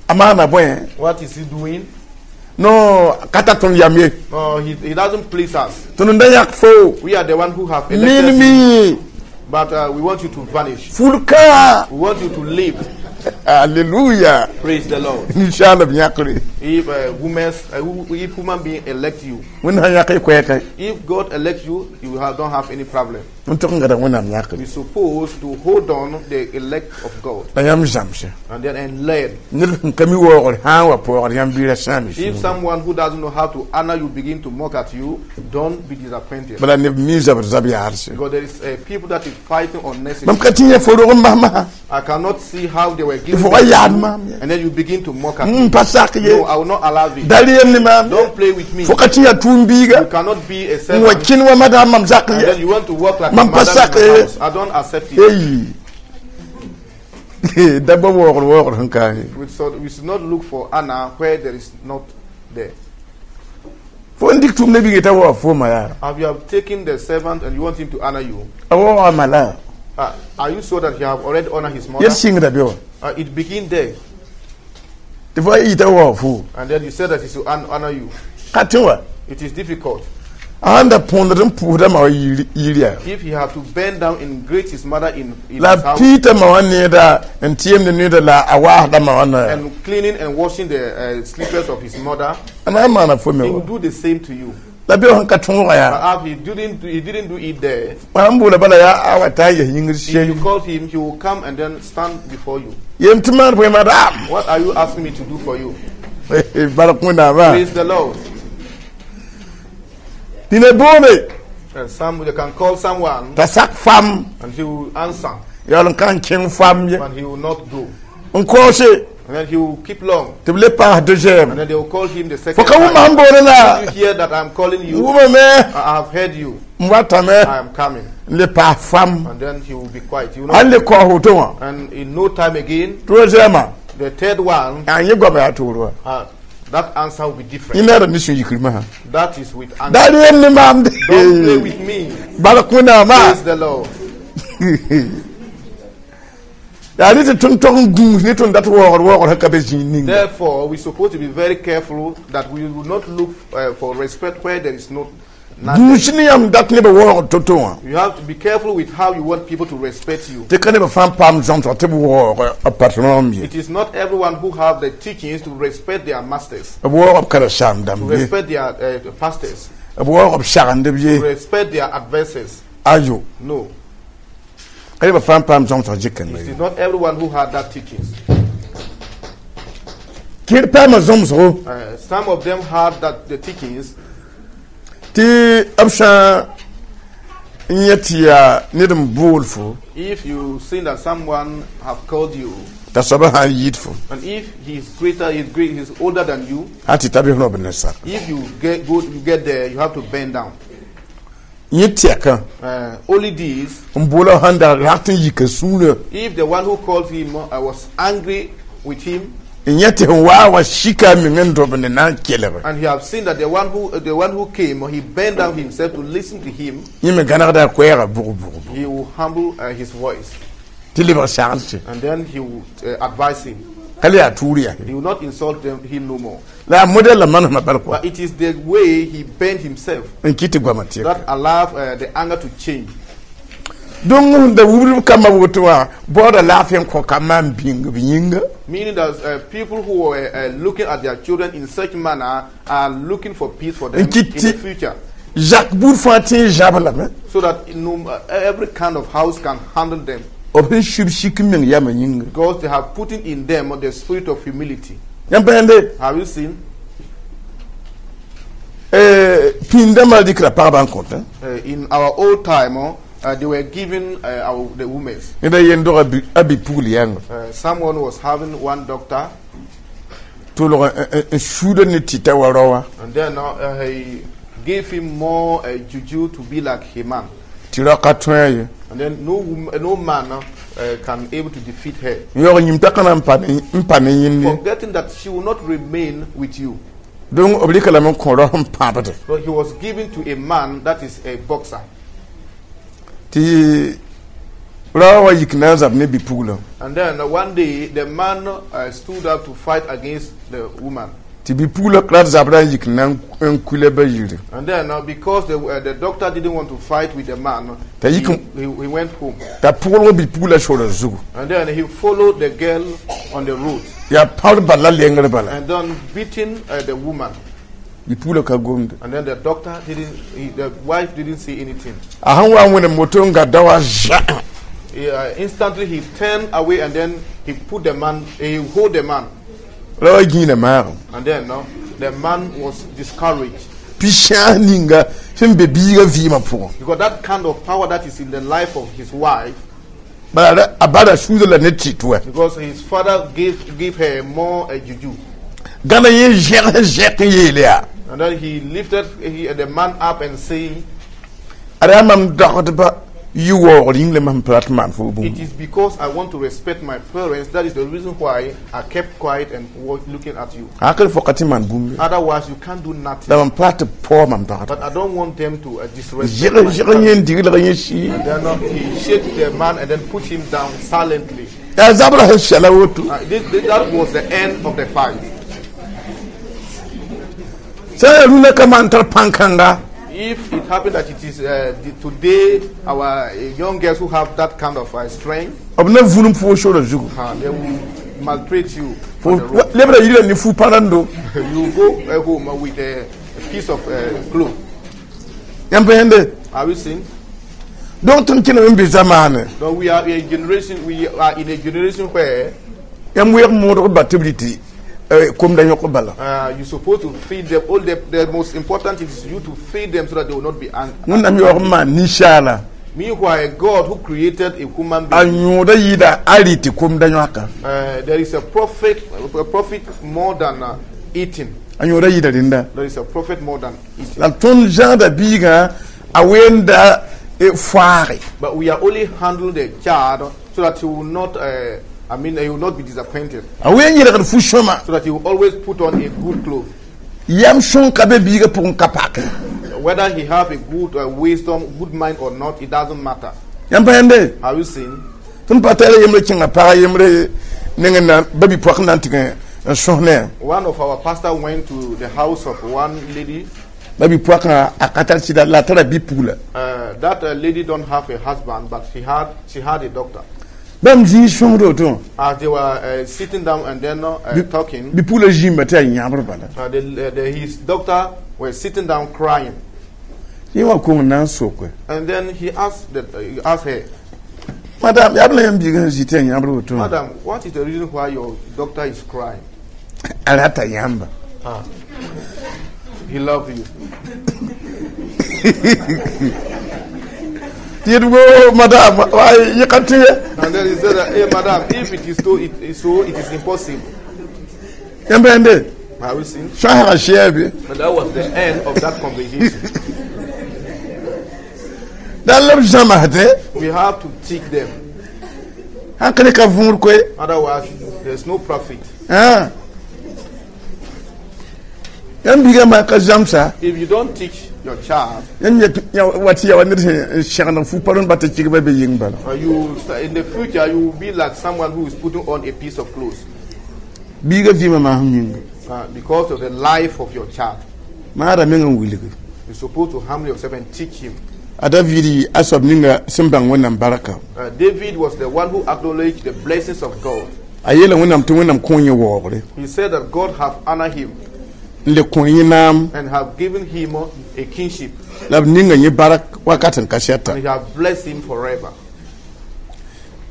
A maana bõe. What is he doing? No ka tar tõnd yam ye. No, he doesn't please us. Tõnd n da yãk fo. We are the one who have elected Min him, mi. But we want you to vanish. Fulka. We want you to leave. Alléluia. Praise the Lord. Ninsaal b yãkre. If human being elect you, Wẽnd sã yãk y koɛɛka. If God elects you, you don't have any problem. N tʋg n gada Wẽnnaam yãkre. We're supposed to hold on the elect of God La yãmb zãmse. And then and learn. Ned sẽn ka mi waoogr sã n wa paoogd yãmb bɩɩra sãam y If sũurẽ. someone who doesn't know how to honor you begin to mock at you, don't be disappointed. Bala neb mi zabr zab yaadse. Because there is people that is fighting unnecessarily. Mam ka tɩ yẽ fo rog n bas masã. I cannot see how they were given. Fo wa yaad maam ye. And then you begin to mock at me. N pa sak ye. No, I will not allow it. Da reem ne maam. Don't play with me. Fo ka tɩ yaa tʋʋm biiga. You cannot be a N wa servant. kẽn wa madaam mam zak And then ye. you want to work like a Mam pa madam in sak my ye. house. I don't accept it. Ei. Da ba waoogr waoogr sẽn ka ye. So we should not look for honor where there is not there. Fo n dɩk tʋʋm ne biiga t'a waoog fooma yaa. Have you have taken the servant and you want him to honor you? A waooga ma la. Are you sure that he have already honored his mother? Yet sɩngda be wã. It begin there. Tɩ fo a yita waoog fo. And then you said that he should honor you. Ka tẽ wa. It is difficult. A sãn da põondd n pʋʋsda ma wã yir yaa. If he had to bend down and greet his mother in La his house piita ma wã needa n tɩɩmd needa la a waasda ma wã noya. And cleaning and washing the slippers of his mother, A na n maana fo me he will wa. do the same to you. La be sẽn ka tõoga yaa. But if he didn't do it there, Sãn boola bala yaa a wa taa n yes yĩngr if you sɛy. call him, he will come and then stand before you. Yem tɩ maan bõe madam. What are you asking me to do for you? Bark Wẽnnaamã. Praise the Lord. Tɩ ne boome. And some they can call someone T'a sak fam. And he will answer, Yaool n ka n kẽng fam ye. But he will not go. N kaoose. And then he will keep long. Tɩ b le paas deuxième. And then they will call him the second Fo ka wʋm time. sẽn boone la. Did you hear that I'm calling you? Wʋmame. I have heard you. N watame. I am coming. N le paas fam. And then he will be quiet. He will Ãn not. le kaoos woto wã. And in no time again, Troisième. The third one, A yẽ goama yaa toor wa. That answer will be different. Yẽ naara ne sũ-yikr masã. That is with anger. Da reem ne maam de. Don't play with me. Bark Wẽnnaamã. Praise the Lord. Yaa ne tɩ tõnd tog n gũus ne tõnd dat waoogr waoogr sẽn ka be zĩig ninga. Therefore, we're supposed to be very careful that we will not look for respect where there is not Not Gũus ne yãmb dat nebã waoog to-to wã. You have to be careful with how you want people to respect you. Tɩ ka nebã fãa n paam zãmsg tɩ b waoog b patron ye. It is not everyone who have the teachings to respect their masters, B waoog b karen-saam to dãmb ye. respect their pastors, B waoog b sagendb ye. to respect their advisors. Ayo. No, Ka nebã fãa n paam zãmsg zɩkengã it ye. is not everyone who had that teachings. Kẽer paama zãmsgo Some of them had that the teachings tɩ b sã n yẽ tɩ yaa ned n bool fo if you see that someone have called you, t'a soabã sã n yɩɩd fo and if he is greater, he is great, he is older than you. sã tɩ ta bɩ rõb ne sak. If you get go, you get there, you have to bend down. Yẽ tɛkã Only this, n boola sãn da rat n yika sũurã if the one who called him was angry with him, n yẽ tɩ sẽn waa wa sika a meng n dobnd na n kelg and he have seen that the one who came, he bent down himself to listen to him, yẽ me gãnegda a koɛɛga bʋg bʋg bʋg he will humble his voice, tɩ lebg saglse and then he will advise him. Ka le yaa tuur yaa. He will not insult him no more. La a modɛl la manesmã bal kɔa But it is the way he bent himself n kɩt tɩ goamã tɩka that allowed the anger to change. Donc sẽn da wubdb kambã woto wã baooda laafɩ n kõ kambã n bĩng b yĩnga. Meaning that people who were looking at their children in such manner are looking for peace for them in the future. Zak buud fãa tẽ n zãb lame. So that no, every kind of house can handle them. B sẽn sub sik n meng yamã yĩnga. Because they have put in them the spirit of humility. Yãmb pa yãnde. Have you seen? Pĩndãmbã dɩkra pagba n kõtã. In our old time, they were giving the women. Ned a yen dog a bi-pugl yãnga. Someone was having one doctor, tʋlg n suuda ne tɩta wa raoã. And then he gave him more juju to be like a man. Tɩ rao ka tõe a ye. And then no man can able to defeat her. N yaoog yĩm t'a ka na n pa ne yẽnd ye. Forgetting that she will not remain with you. Donc b rɩka lame n kõ rao sẽn pãbde. But he was given to a man that is a boxer. Tɩ rao wa yik na n zab ne bi-puglã. And then one day the man stood up to fight against the woman. Tɩ bi-puglã rat zabrã n yik na n kula ba yiri. And then because the doctor didn't want to fight with the man, Ta he went home. T'a pʋglg bi-puglã sora zugu. And then he followed the girl on the road. Yaa pãbd bala lengr bala. And then beating the woman. Bi-puglã ka gomde. And then the doctor didn't, he, the wife didn't see anything. A sẽn wa n wẽnem moto n ga daoã zã. Instantly he turned away and then he put the man, he hold the man. Ra wa gĩinã maagem. And then the man was discouraged. Pi-sãas ninga sẽn be biigã vɩɩmã pʋgẽ. Because that kind of power that is in the life of his wife, Bala a bada suuda la ne tɩt wa. Because his father gave her more juju. Gãna yẽ zẽg sẽn zẽk n yeele yaa. And then he lifted the man up and saying, Ad yaa mam dogdba yɩ waoogr yĩng la mam pa rat n maan fo bũmb. "It is because I want to respect my parents. That is the reason why I kept quiet and was looking at you. Hakl fo ka tɩ maan bũmb ye. Otherwise, you can't do nothing." La mam pa tɩ paoog mam dogdba. But I don't want them to disrespect Zẽg my zẽg family." yẽ n diglg yẽ sii. And then he shake the man and then put him down silently. Yaa zabrã sẽn sɛla woto. That was the end of the fight. Sã n yaa rũnã ka maan tar pãn-kãnga If it happened that it is today our young girls who have that kind of strength, b na vũnum foo sora zugu. They will maltreat you Fo on the road. lebra yirã ne fu pãrãndo. You go home with a piece of cloth. Yãmb pa yẽnde. Are we seeing? Donc tõnd kẽneme n be zamaane. No, we are in a generation where Yãmb weeg moodg ba tɩ b rɩtɩ komda yõk bala. You're supposed to feed them. All the most important thing is you to feed them so that they will not be angry. Wẽnnaam yaoog n maan ninsaala. Meanwhile, God who created a human A being, yõoda yɩɩda a rɩtɩ komda yõaka. There is a prophet more than eating. A yõoda yɩɩda rẽnda. There is a prophet more than eating. La tõnd zãada biigã a wenda foaage. But we are only handling the child so that he will not, I mean, he will not be disappointed. A wen yẽlgd fu-sõma. So that he will always put on a good cloth. Yam sõn ka be biigã pʋgẽ ka pake. Whether he have a good wisdom, good mind or not, it doesn't matter. Yãmb pa yãnde. Have you seen? Tõnd pa tara yembre kẽnga pag yembre neng na ba bi-poak n na n tɩg n sõs ne. One of our pastor went to the house of one lady. Ba-bi-poakã a ka tar sɩda la a tara bi-pugla. That lady don't have a husband, but she had a doctor. Bãmb zĩig sõsd woto. As they were sitting down and then talking, Bi-pugla zĩimba tɩ yaa yãbr bala. His doctor was sitting down crying. Yẽ wã kong n na n soke. And then he asked her, Madam, yaa b la yãmb biigã sẽn zĩ tɩ yaa yãbr woto? "Madam, what is the reason why your doctor is crying?" A rata yãmba. Ah, he loved you. Tɩ yet wo madam wa yẽ ka tɩ ye. And then he said, that, "Hey, madam, if it is so, it is so, it is impossible." Yãmb rẽnde. Have you seen? Sõsga sɛɛbe. But that was the end of that conversation. Dal la b zãmsdẽ. We have to teach them. Sãn ka ne ka võor koe. Otherwise, there's no profit. Yãmb biigã maa ka zãmsa. If you don't teach your child, Yãmb wa tɩ ya wa ned sẽn segd fu pa rõnd ba tɩ kɩgba be yɩng bala. In the future you will be like someone who is putting on a piece of clothes. Biigã vɩɩmã maasem yĩnga. Because of the life of your child. Maada meng n wilgi. You're supposed to humble yourself and teach him. A David a soab ninga sẽn bãng Wẽnnaam barka. David was the one who acknowledged the blessings of God. A yeela Wẽnnaam tɩ Wẽnnaam kõ yẽ waoogre. He said that God have honored him n le kõ yẽ naam. And have given him a kingship. La b ninga yẽ barak wakat n ka sɛta. And he have blessed him forever.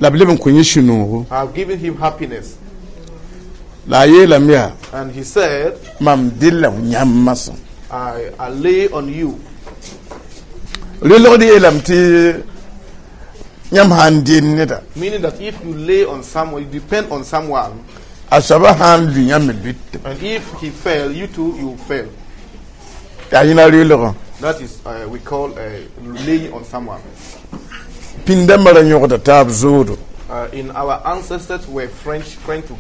La b leb n kõ yẽ sũ-noogo. Have given him happiness. La a yeelame yaa And he said, mam della yãmb masã. I lay on you. Relgd yeelame tɩ yãmb sã n deen neda. Meaning that if you lay on someone, you depend on someone, A soabã sã n lʋ yãmb me lʋɩtame. And if he fail, you too, you fail. Yaa yẽna relgã. That is, we call laying on someone. Pĩndãmbã ra yõgda taab zoodo. In our ancestors were French, friend to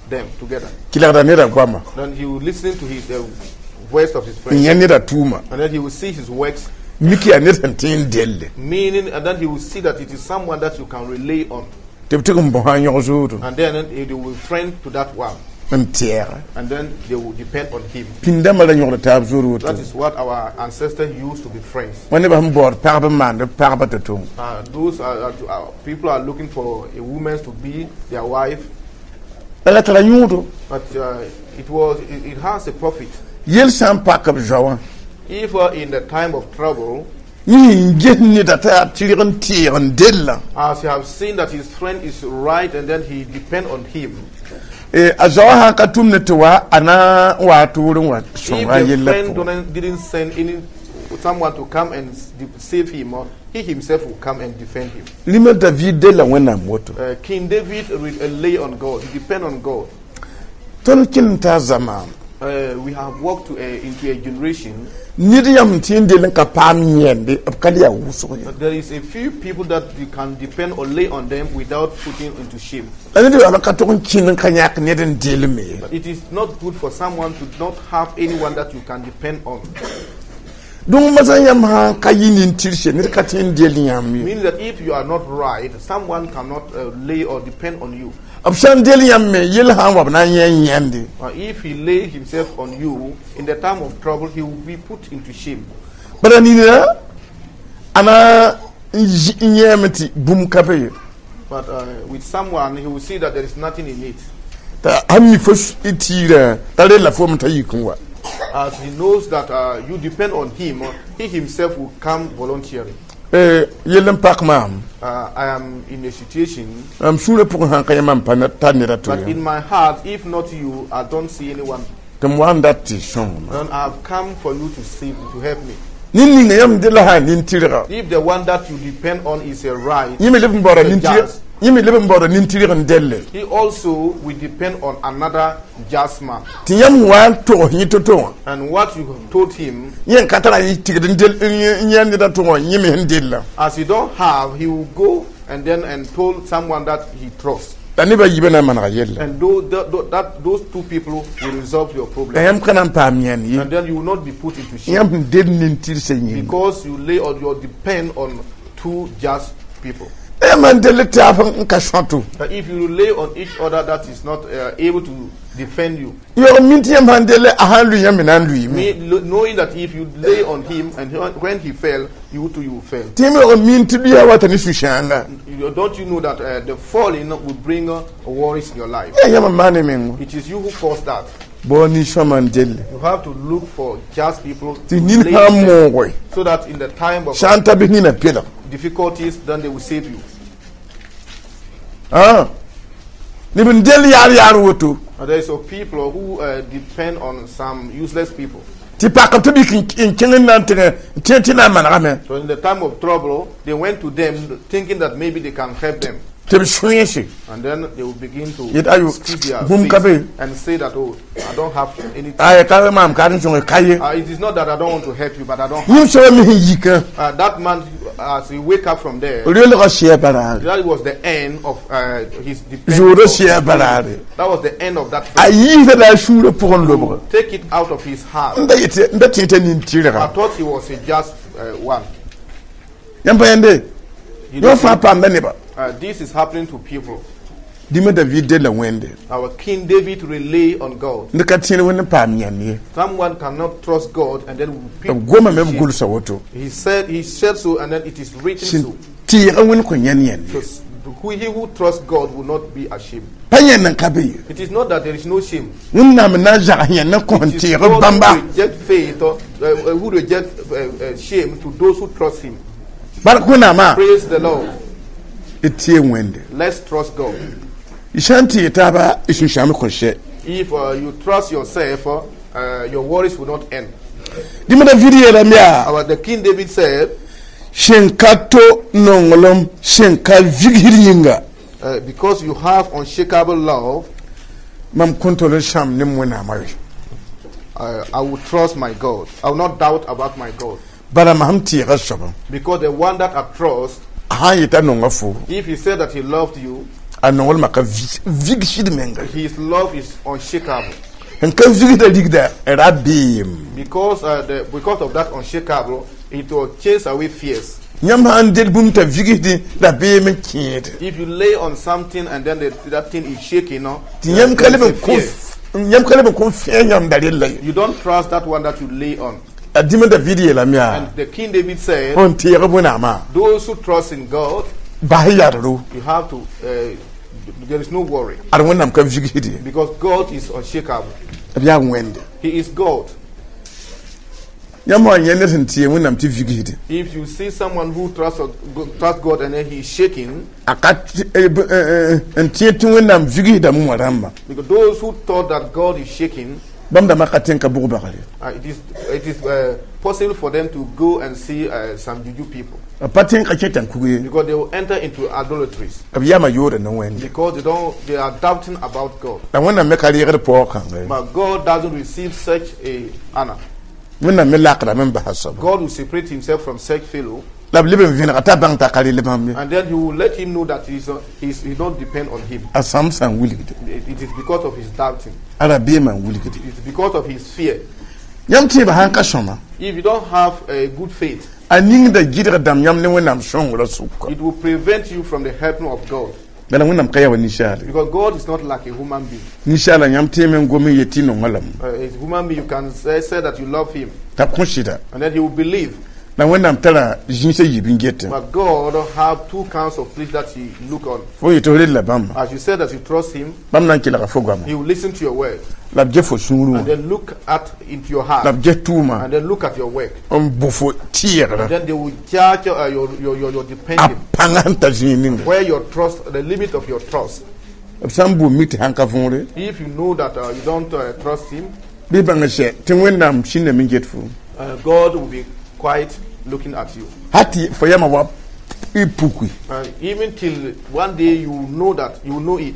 them together. Kelgda neda goama. Then he would listen to his voice of his N friend, yã neda tʋʋma. And then he will see his works, Mik yaa ned sẽn tõe n delle. Meaning, and then he will see that it is someone that you can rely on, Tɩ b tɩg n bõsa n yõg zoodo. And then they will friend to that one, N tɛɛga. And then they will depend on him. Pĩndãmbã ra yõgda taab zood woto. That is what our ancestors used to be friends. Wa nebã sẽn baood pagb n maand b pagba tɩ tʋm. Those are, people are looking for a woman to be their wife, Bala tara yõodo. But it has a profit. Yel sã n pak b zoa wã. If in the time of trouble, Yẽ n ges neda t'a yaa tɩrg n tɩɩg n dellã. As you have seen that his friend is right, and then he depend on him. Eh, a zoa sã n ka tʋm ne tɩ wa a na n waa tʋʋr n wa If sõnga the yella friend pʋgẽ. didn't send any someone to come and save him, or he himself will come and defend him. Rĩmã David della Wẽnnaam woto. King David lay on God. He depend on God. Tõnd kẽnd n taa zamaan. We have walked into a generation. Ned yãmb n tɩ n dell n ka paam yẽnde b ka le yaa wʋsg ye. But there is a few people that you can depend or lay on them without putting into shame. La ned yaool n ka tog n kẽnd n ka yãk ned n dellme ye. But it is not good for someone to not have anyone that you can depend on. Dũng masã yãmb sã n ka yɩ nin-tɩrse ned ka tõe n dell yãmb ye. Meaning that if you are not right, someone cannot lay or depend on you. B sã n dell yãmb me yell sã n wa b na n yẽ n yẽnde. If he lay himself on you in the time of trouble, he will be put into shame. Bala nina a na n n yẽeme tɩ bũmb ka be ye. But with someone, he will see that there is nothing in it. T'a sãn mi fo tiirã t'a rella foom t'a yik n wa. As he knows that you depend on him, he himself will come voluntarily. Eh, yell n pak maam. I am in a situation, Mam sũurã pʋgẽ sãn ka yã mam pa tar ned a to but in my heart, if not you, I don't see anyone. Tɩ m wa n dat tɩ sõngma. Then I have come for you to save, to help me. Nin ninga yãmb della sã nin-tɩrga. If the one that you depend on is a right, Yẽ me leb n baooda a nin-tɩrg just, yẽ me leb n baooda nin-tɩrg n delle. He also will depend on another just man. Tɩ yãmb wa n togs yẽ to-to wã. And what you have told him, Yẽ n ka tara yẽ tigd n del n yã ned a to wã yẽ me sẽn dellã. As he don't have, he will go and then and told someone that he trusts. La nebã yiibã na n manega yella. And those two people will resolve your problem. La yãmb ka na n paam yãnd ye. And then you will not be put into shame. Yãmb sẽn del nin-tɩrsã yĩnga. Because you lay on your depend on two just people. La Yãmb sãn dell taab n ka sõto, But if you rely on each other that is not able to defend you, yaoog n min tɩ yãmb sãn delle a sãn lʋɩ yãmb me na n lʋɩɩme. Knowing that if you lay on him and when he fell, you too you will fail. Tɩ yãmb yaoog n min tɩ lʋɩa wata ne sũ-sãanga. Don't you know that the falling will bring worries in your life? Yaa yãmb n maan ne meng. It is you who caused that. Bao nin-sõma n delle. You have to look for just people Tɩ to nin lay sã n on them mooge, so that in the time of sã n ta bɩ nina pelg. difficulties, then they will save you. Neb n dell yaar yaar woto. And there is some people who depend on some useless people. Tɩ pakb tɩ bik n kẽng n na n tẽng n tẽ tɩ na n manegame. So in the time of trouble, they went to them thinking that maybe they can help them. Tɩ b sõeese. And then they will begin to Yet ayo, squeeze their bũmb ka face be. and say that, "Oh, I don't have anything." Ay ka maam ka n sõnge ka ye. It is not that I don't want to help you, but I don't. Yĩm soaba me sẽn yikã, That man, as he wake up from there, reelgã sɩa baraare. that was the end of his dependence. Zoodã sɩa baraare. That was the end of that A friend. yiisda la a sũurã pʋgẽ lobg. Take it out of his heart. N da yetɩ n da tẽ t'a nin-tɩrga. I thought he was a just one. Yãmb pa yẽnde You yõ know, fãa paamda neba. This is happening to people. Dĩmã David della Wẽnde. Our King David rely on God. Ned ka tẽed Wẽnd n paam yãnd ye. Someone cannot trust God and then will B pick gomame b gʋlsa woto. He said so, and then it is written Sẽn so. tɩɩg Wẽnd kõ yãnd yãnd So ye. he who trusts God will not be ashamed. Pa yãnd n ka be ye. It is not that there is no shame. Wẽnnaam n na n zag yãnd n kõ n It is tɩɩg God bãmba. who reject faith, or, who reject shame to those who trust Him. Bark Wẽnnaamã. Praise the Lord. D tɩ Wẽnde. Let's trust God. Y sã n tɩɩg taaba y sũ-sãam kõ sɛ. If you trust yourself, your worries will not end. Dĩmã David yeelame yaa, Our the King David said, sẽn ka to nonglem sẽn ka vigsd yĩnga, because you have unshakable love, mam kõn tol n sãam ne Wẽnnaamã we. I will trust my God. I will not doubt about my God. Bala mam sẽn tɩɩga soabã, Because the one that I trust, a sã n yeta nonga fo, if he said that he loved you, a nonglmã ka vigsd menga. his love is unshakable. Sẽn ka vigsda rigda rabeem. Because of that unshakable, it will chase away fears. Yãmb sã n del bũmb t'a vigsdẽ rabeem n kẽede, If you lay on something and then that thing is shaking, no, tɩ yãmb ka there leb is n a kõ fear. yãmb ka leb n kõ fẽe yãmb da rella ye. You don't trust that one that you lay on. A dĩmã David yeelame yaa, And the King David said, fo n tɩɩg Wẽnnaamã, those who trust in God, bas yadro. you have to, there is no worry. Ad Wẽnnaam ka vigsd ye. Because God is unshakable. B yaa Wẽnde. He is God. Yãmb wã yẽ ned sẽn tɩ Wẽnnaam tɩ vigsd, If you see someone who trusts God and then he is shaking, a ka n tẽ tɩ Wẽnnaam vigsdame wã rãmbã, because those who thought that God is shaking, bãmb dãmbã ka tẽ n ka bʋg bagre. it is possible for them to go and see some juju people B pa tẽ n ka kẽ tãn-kug ye. because they will enter into idolatries B yama yoore ne Wẽnde. because they don't they are doubting about God. La Wẽnnaam me ka reegd paoog kãnga ye. But God doesn't receive such a honor. Wẽnnaam me lakdame n basa soaba. God will separate himself from such fellow, La b leb n vẽnega t'a bãng t'a ka rel bãmb ye. and then he will let him know that he don't depend on him. A sãm sã n wilgde. It is because of his doubting. A rabeemã n wilgde. It's because of his fear. Yãmb tẽebã sãn ka sõma, If you don't have a good faith, a ningda gɩdg dãmb yãmb ne Wẽnnaam sõngrã sʋka. it will prevent you from the helping of God. Bala Wẽnnaam ka yaa wa ninsaal ye. Because God is not like a human being. Ninsaala yãmb tẽeme n gom n yet tɩ nonga lame. A human being, you can say that you love him, T'a b kõ sɩda. and then he will believe. La Wẽnnaam tara zĩisã yiib n getẽ. But God have two kinds of things that he look on. Fo yetɩ f rella bãmba, As you said that you trust him, bãmb na n kelga fo goama. he will listen to your word, La b ges fo sũurẽ wã. and then look at into your La heart, b ges tʋʋma and then look at your work. n bʋ fo tɩɩgrã. Then they will judge your A dependence, pãngã sẽn ta zĩig ninga. where your trust, the limit of your trust. B sã n bʋ mi tɩ sãn ka võore, If you know that you don't trust him, bɩ bãng sɛ tɩ Wẽnnaam sĩndame n get fo. God will be quiet looking at you. Hal tɩ fo yamã wa y puki, Even till one day you know that you know it,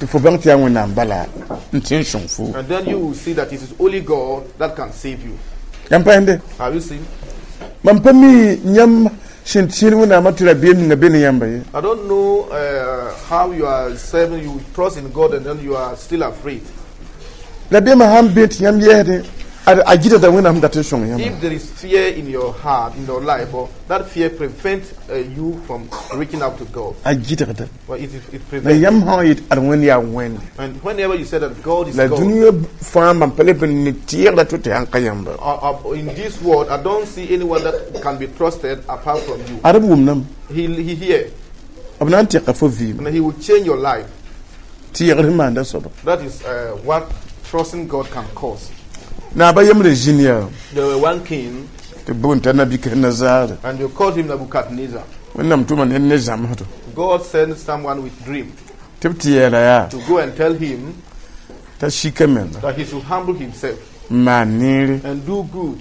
tɩ fo bãng tɩ yaa Wẽnnaam bala n tẽ n sõng fo. and then you will see that it is only God that can save you. Yãmb pa yẽnde? Have you seen? Mam pa mi yãmb sẽn tẽed Wẽnnaamã tɩ rabeem ninga be ne yãmba ye. I don't know how you are serving, you trust in God and then you are still afraid. Rabeemã sãn be tɩ yãmb yɛsdẽ, A gɩdgda Wẽnnaam dat n sõng yãmba. If there is fear in your heart, in your life, or that fear prevents you from reaching out to God. A gɩdgda. Well, it La prevents. yãmb sã n yet ad Wẽnd yaa Wẽnde. And whenever you say that God is La God, dũniyã fãa mam pa leb n ne tɩɩgda to tɩ sãn ka yãmba. In this world, I don't see anyone that can be trusted apart from you. Ad b wʋmdame. He hear, B na n tɩka fo vɩɩm. And he will change your life. Tɩɩgr sẽn maanda soaba. That is what trusting God can cause. Naaba yembre zĩnd yaa. There were one king, Tɩ boond t'a Nabucodonosor. And they called him Nebuchadnezzar. Wẽnnaam tʋma ned ne zãmsdo. God sent someone with dream Tɩ b tɩ yeela yaa to go and tell him t'a sika menga that he should humble himself n maan neere and do good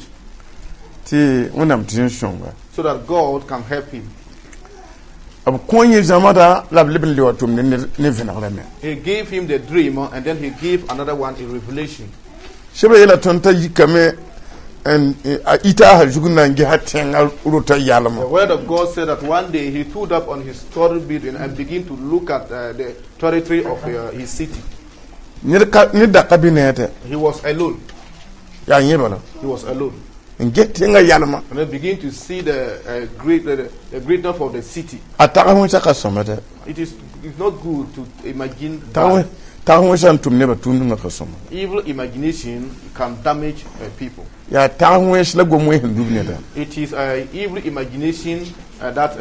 tɩ Wẽnnaam tɩ n sõnga. So that God can help him. B kõ yẽ zãmsda la b leb n le wa tʋmd ne vẽnegrã me. He gave him the dream and then he gave another one a revelation. Sebra yeela tõnd t'a yikame n a ita a zug n na n gesa tẽngã rota yalmã. The word of God said that one day he stood up on his story building and began to look at the territory of his city. Ned ka ned da ka be ne a tɛ. He was alone. Yaa yẽ bala. He was alone. N ges tẽngã yalmã. And then begin to see the greatness of the city. A tag wẽnsa ka sõma tɛ. It's not good to imagine Tag bad. Tag wẽnsa n tʋm nebã tũud ninga ka sõma. Evil imagination can damage people. Yaa tag wẽns la gom wẽns n dub neda. It is evil imagination that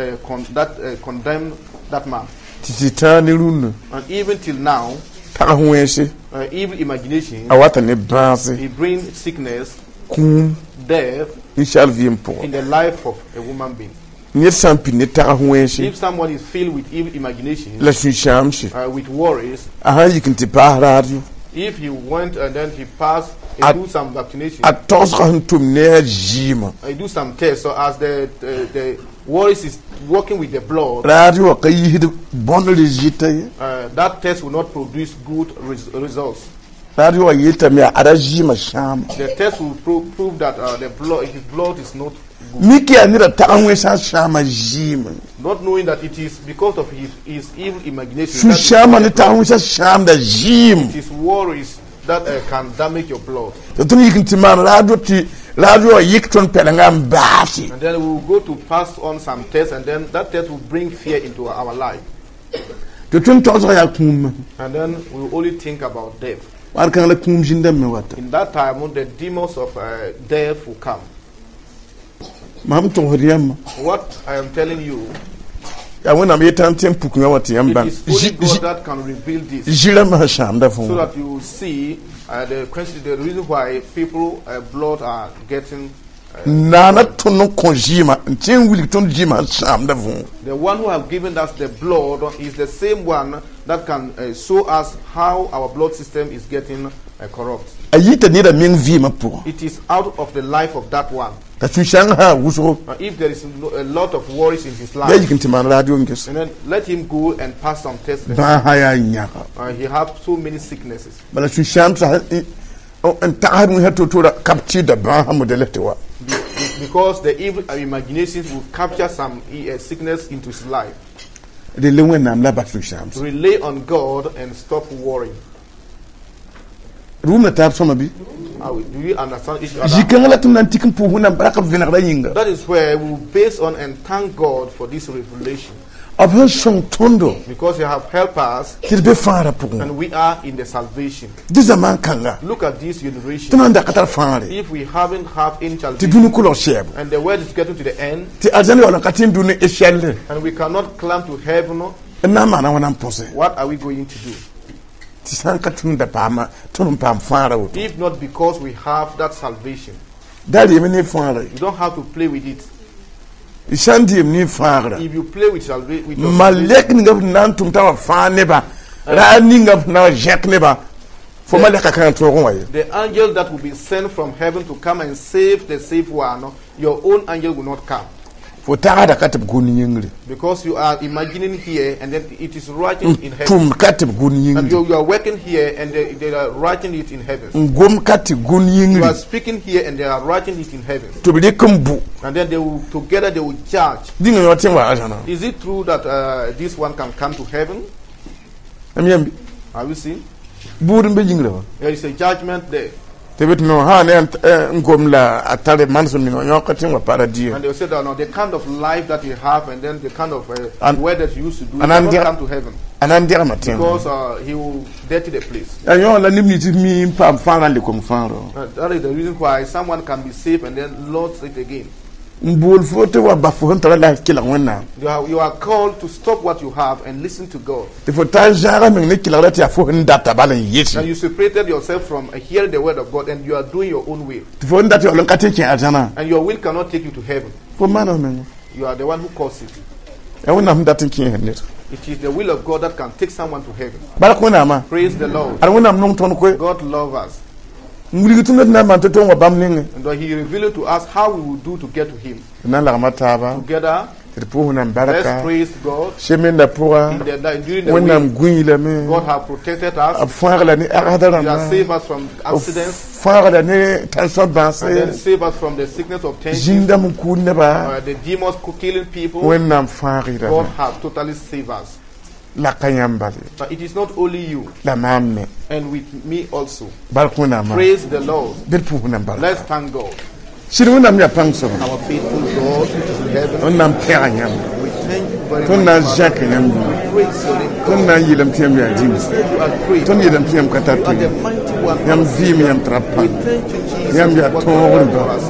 condemn that man. Tɩ tɩ tãag ne rũnnã. And even till now, Tag wẽnse evil imagination, a wata ne bãase it brings sickness, kũum death ninsaal vɩɩm pʋgã. In the life of a human being. Ned sã n pid ne tag wẽnse If someone is filled with evil imagination, la sũ-sãamse with worries, a sã n yik n tɩ paas raadyo if he went and then he passed, he do some vaccination, a togsgã sẽn tʋm ne a zɩɩmã he do some tests. So as the worries is working with the blood, raadyo wã ka yiisd bõnd résultat ye. That test will not produce good results. Raadyo wã yeeltame yaa ada zɩɩmã sãama. The test will prove that his blood is not good. Mik yaa neda tag wẽnsã sãama zɩɩmã. Not knowing that it is because of his evil imagination that is Sũ-sãamã ne tag wẽnsã sãamda zɩɩm. it is worries that can damage your blood. Tɩ tõnd yik n tɩ maan raadyo tɩ raadyo wã yik tõnd pɛlengã n baase. And then we will go to pass on some tests, and then that test will bring fear into our life. Tɩ tõnd togsgã yaa kũumã. And then we will only think about death. War kãng la kũum zĩndame wata. In that time, the demons of death will come. Mam togsd yãmba. What I am telling you, Yaa Wẽnnaam yetã n tẽ n puk yã wã tɩ yãmb it bãng is only God that can reveal this, zĩrãmbã sẽn sãamda so fo. That you will see the question, the reason why people blood are getting. Naana tõnd n kõ zɩɩmã n tẽ n wilg tõnd zɩɩmã sẽn sãamda võo. The one who have given us the blood is the same one that can show us how our blood system is getting corrupt. A yita neda meng vɩɩmã pʋgã. It is out of the life of that one. T'a sũ-sãang sã wʋsgo Now, if there is no, a lot of worries in his yaa life, yik n tɩ maan raadɩo n ges and then let him go and pass some tests. bãasã yaa yãga. He have so many sicknesses. Bala sũ-sãam sa n tagsd wẽnsã to-tora ka b tɩɩda bãasã modɛl tɩ wa. Because the evil imaginations will capture some sickness into his life. Rel Wẽnnaam la bas sũ-sãam. Rely on God and stop worrying. Rʋʋmda taab sõma bɩ? Do you understand each other? Zĩ-kãngã la tɩ m na n tik n pʋʋs Wẽnnaam bark b vẽnegrã yĩnga. That is where we will base on and thank God for this revelation. B sẽn sõng tõndo Because you have helped us tɩ d be fãagrã pʋgẽ. And we are in the salvation. Dɩ zamaan kãnga Look at this tɩ generation. nan da ka tar fãagre If we haven't have any tɩ salvation dũni kolg sɛɛbo and the world is getting to the end tɩ arzãn yaool n ka tɩ n dũni échelle and we cannot climb to heaven, n na n maana wãna n põse what are we going to do? Tɩ sã n ka tũud da paama tõnd n paam fãagrã woto. If not because we have that salvation, Da reem ne fãagra you don't have to play with it. y sã n dɩɩm ne fãagra If you play with your salvation, malɛk ninga b na n tʋm t'a wa fãag nebã ra ninga b na wa zẽk nebã fo malɛka kãngã tõog n wa ye. The angel that will be sent from heaven to come and save the safe one, your own angel will not come. Fo tagsda ka tɩ b gʋl yĩngre. Because you are imagining here and then it is writing in heaven. Tʋm ka tɩ b gʋl And yĩngre. you are working here and they are writing it in heaven. N gom ka tɩ gʋl You are yĩngre. Speaking here and they are writing it in heaven. Tɩ b rɩk n bʋ. And then they will together they will judge. Dĩnga yõ tẽ n wa arzãna. Is it true that this one can come to heaven? M yãmb Are you seeing? bʋʋd n be yĩngrã wã. There is a judgment there. Tɩ b tɩ no sã ne n gom la a tare manesem ninga yõk tɩ n wa paradie. And they will say that no, the kind of life that you have and then the kind of work that you used to do, you and I'm cannot come to heaven a na n degma tẽngã. Because he will dirty the place. Yaa yõ la neb nins mi n paam fãagrã n le kom fãagro. That is the reason why someone can be saved and then lost it again. N bool fo tɩ wa bas fo sẽn tara la kelg Wẽnnaam. You are called to stop what you have and listen to God. Tɩ fo taa n zãaga meng ne kelgra tɩ yaa fo sẽn data bal n And yɩs. you separated yourself from hearing the word of God and you are doing your own will. Tɩ fo n dat yaool n ka tɩ n kẽ arzãnã. And your will cannot take you to heaven. Fo maana f menga. You are the one who caused it. Yaa Wẽnnaam sẽn dat n kẽes ned. It is the will of God that can take someone to heaven. Bark Wẽnnaamã. Praise the Lord. Ad Wẽnnaam nong tõnd koe. God loves us. N wilg tɩ ned na n maan tɩ tõnd wa bãmb nengẽ. And then He revealed to us how we will do to get to Him. Tɩ na n lagma taaba. Together, Tɩ d pʋʋs Wẽnnaam let's barka. praise God. Semaine pʋga. During the Wẽnnaam week, gũi lame. God has protected us. B fãag la ne agsda He has rãmba. saved us from accidents Fãag la ne tãnsõ and then bãase. saved us from the sickness of tension, Zĩndame n kʋʋd neba. the demons killing people. Wẽnnaam fãag God rame. has totally saved us. La ka yãmb bale. But it is not only you, La maam me. and with me also. Bark Wẽnnaamã. Praise the Lord. Bɩ d pʋʋs Wẽnnaam Let's barka. thank God. Sɩd Wẽnnaam yaa pãng soaba. Our faithful God which is in heaven, Tõnd na n pẽga yãmb. we thank you very Tõnd na n much. zãk Father. yãmb. We praise your name, Tõnd God. na n yeelame tɩ yãmb yaa dĩm. You are great. Tõnd yeelame tɩ yãmb ka tar You are tʋ. the mighty one. Yãmb vɩɩm yãmb tara We pãng. thank you, Jesus, Yãmb yaa for what you have done tõogr for ba. us.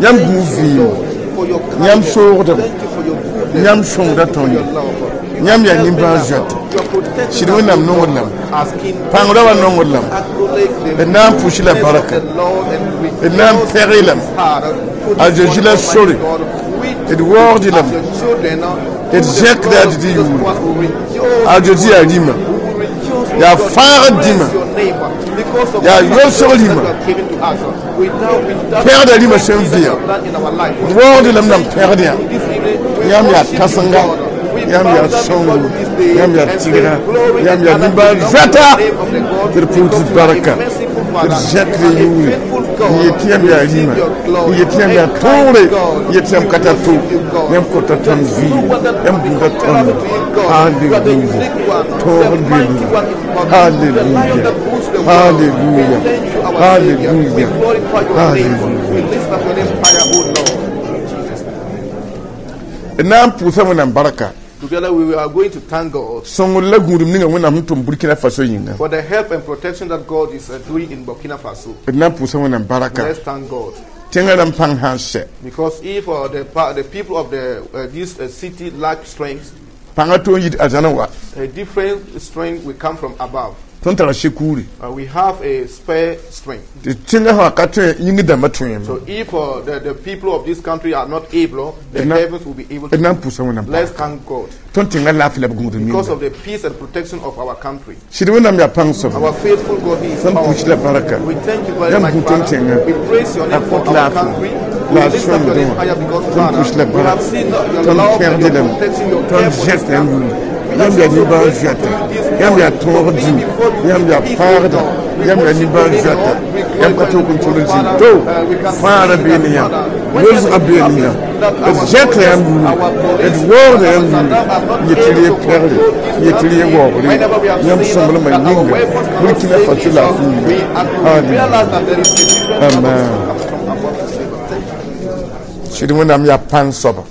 Yãmb Thank gũu you, vɩɩm. Lord, for your Yãmb kindness. soogdem. Thank you for your goodness. Yãmb sõngda Thank you for tõnd. your love. You Yãmb are yaa helping nimbãan us. zoɛta. You are protecting Sɩd us, Wẽnnaam O nongd God, lame. as King. Pãng raba nongd lame. Acknowledge the D na n pʋs la goodness of barka. the Lord and D na n rejoice pɛg in lame. his heart. For A this Zeezi one la Almighty sore. God, we D waoogd as lame. your children, D through the zẽkda blood a of Didi Jesus yʋʋre. Christ, we rejoice A Zeezi yaa rĩmã. We will rejoice, O Yaa God. fãagd Praise dĩmã. your name because of Yaa the yolsg salvation rĩmã. that you have given to us. Without Pɛgda rĩmã the sẽn that you vɩa. have done in our life. D waoogd lame nam pɛgd yã. This evening, we Yãmb yaa worship you, kãsenga. God. We Yãmb bow yaa down before sõngo. you this day Yãmb yaa and say, tigra. Glory Yãmb and yaa honor nimbãan belong to zoɛta. the name of the God Tɩ d pʋʋs because you are a barka. merciful Tɩ d Father. zẽkd You are a yʋʋre. faithful N God. yet tɩ yãmb yaa Receive rĩmã. your glory. N yet tɩ yãmb yaa And kind tõogre. God, N yet tɩ yãmb we ka tar to. worship you, God. Yãmb kõta There tõnd is no vɩɩm. one that can Yãmb be gũuda comparable tõndo. to you, God. You are the Hallelujah. unique one, the Tõogr mighty beene. one in battle, the lion Hallelujah. that rules the world. We Hallelujah. thank you, our Savior. We Hallelujah. glorify your name. We Hallelujah. lift up your name higher, O Lord. In Jesus' name. D na n pʋʋsa Wẽnnaam barka. Together we are going to thank God Sõngr la gũudum ninga Wẽnnaam sẽn tʋm Burkina Faso yĩnga. for the help and protection that God is doing in Burkina Faso. D na n pʋʋsa Wẽnnaam barka. Let's thank God. Tẽngã rãmb pãng sã n sɛ. Because if the people of this city lack strength, Pãngã tõe n yit arzãnã wa. a different strength will come from above. Tõnd tara sekuuri. We have a spare strength. Tɩ tẽngã sã ka tõe yĩng dãmbã tõe So if the people of this country are not able, the heavens will be able to. D na n pʋʋsa Wẽnnaam Let's barka. thank God Tõnd tẽngã laafɩ la b gũudum because yĩnga. of the peace and protection of our country. Sɩd Wẽnnaam yaa pãng soaba. Our faithful God, He is Tõnd pʋʋs la powerful. barka. We thank you very Yãmb much, gũ tõnd Father. tẽngã. We praise your A name for kõt our laafɩ. country. We La lift up your name sõngdẽ higher because, wã. Tõnd pʋʋs la Father, we barka. have seen your Tõnd love and pẽgd your lame. protection, your Tõnd care for this zẽk yãmb country. yʋʋre. We Yãmb are yaa so nimbãan grateful zoɛta. to you this Yãmb yaa morning tõog for being dĩm. before you Yãmb in yaa peace, O fãagda. God. We Yãmb yaa worship your nimbãan name, zoɛta. Lord. We Yãmb ka glorify tõog your n tʋl n name, zĩnd Father. to. We can Fãagrã see bee that, ne yãmb. Father, Yolsgã whenever bee it ne yãmb. happens that D our zẽkda soldiers, yãmb yʋʋre. our D police, waoogda our yãmb yʋʋre. gendarmes are not Yet tɩ able re to pɛgre. control this Yet tɩ re country, waoogre. whenever we have Yãmb seen sõmblmã that our yĩnga. weapons cannot Burkina save Faso this, laafɩ we, yĩnga. and we Hallelujah. realize that there is a different kind of Amen. strength comes from above to save us. Thank you. Sɩd Wẽnnaam yaa pãng soaba.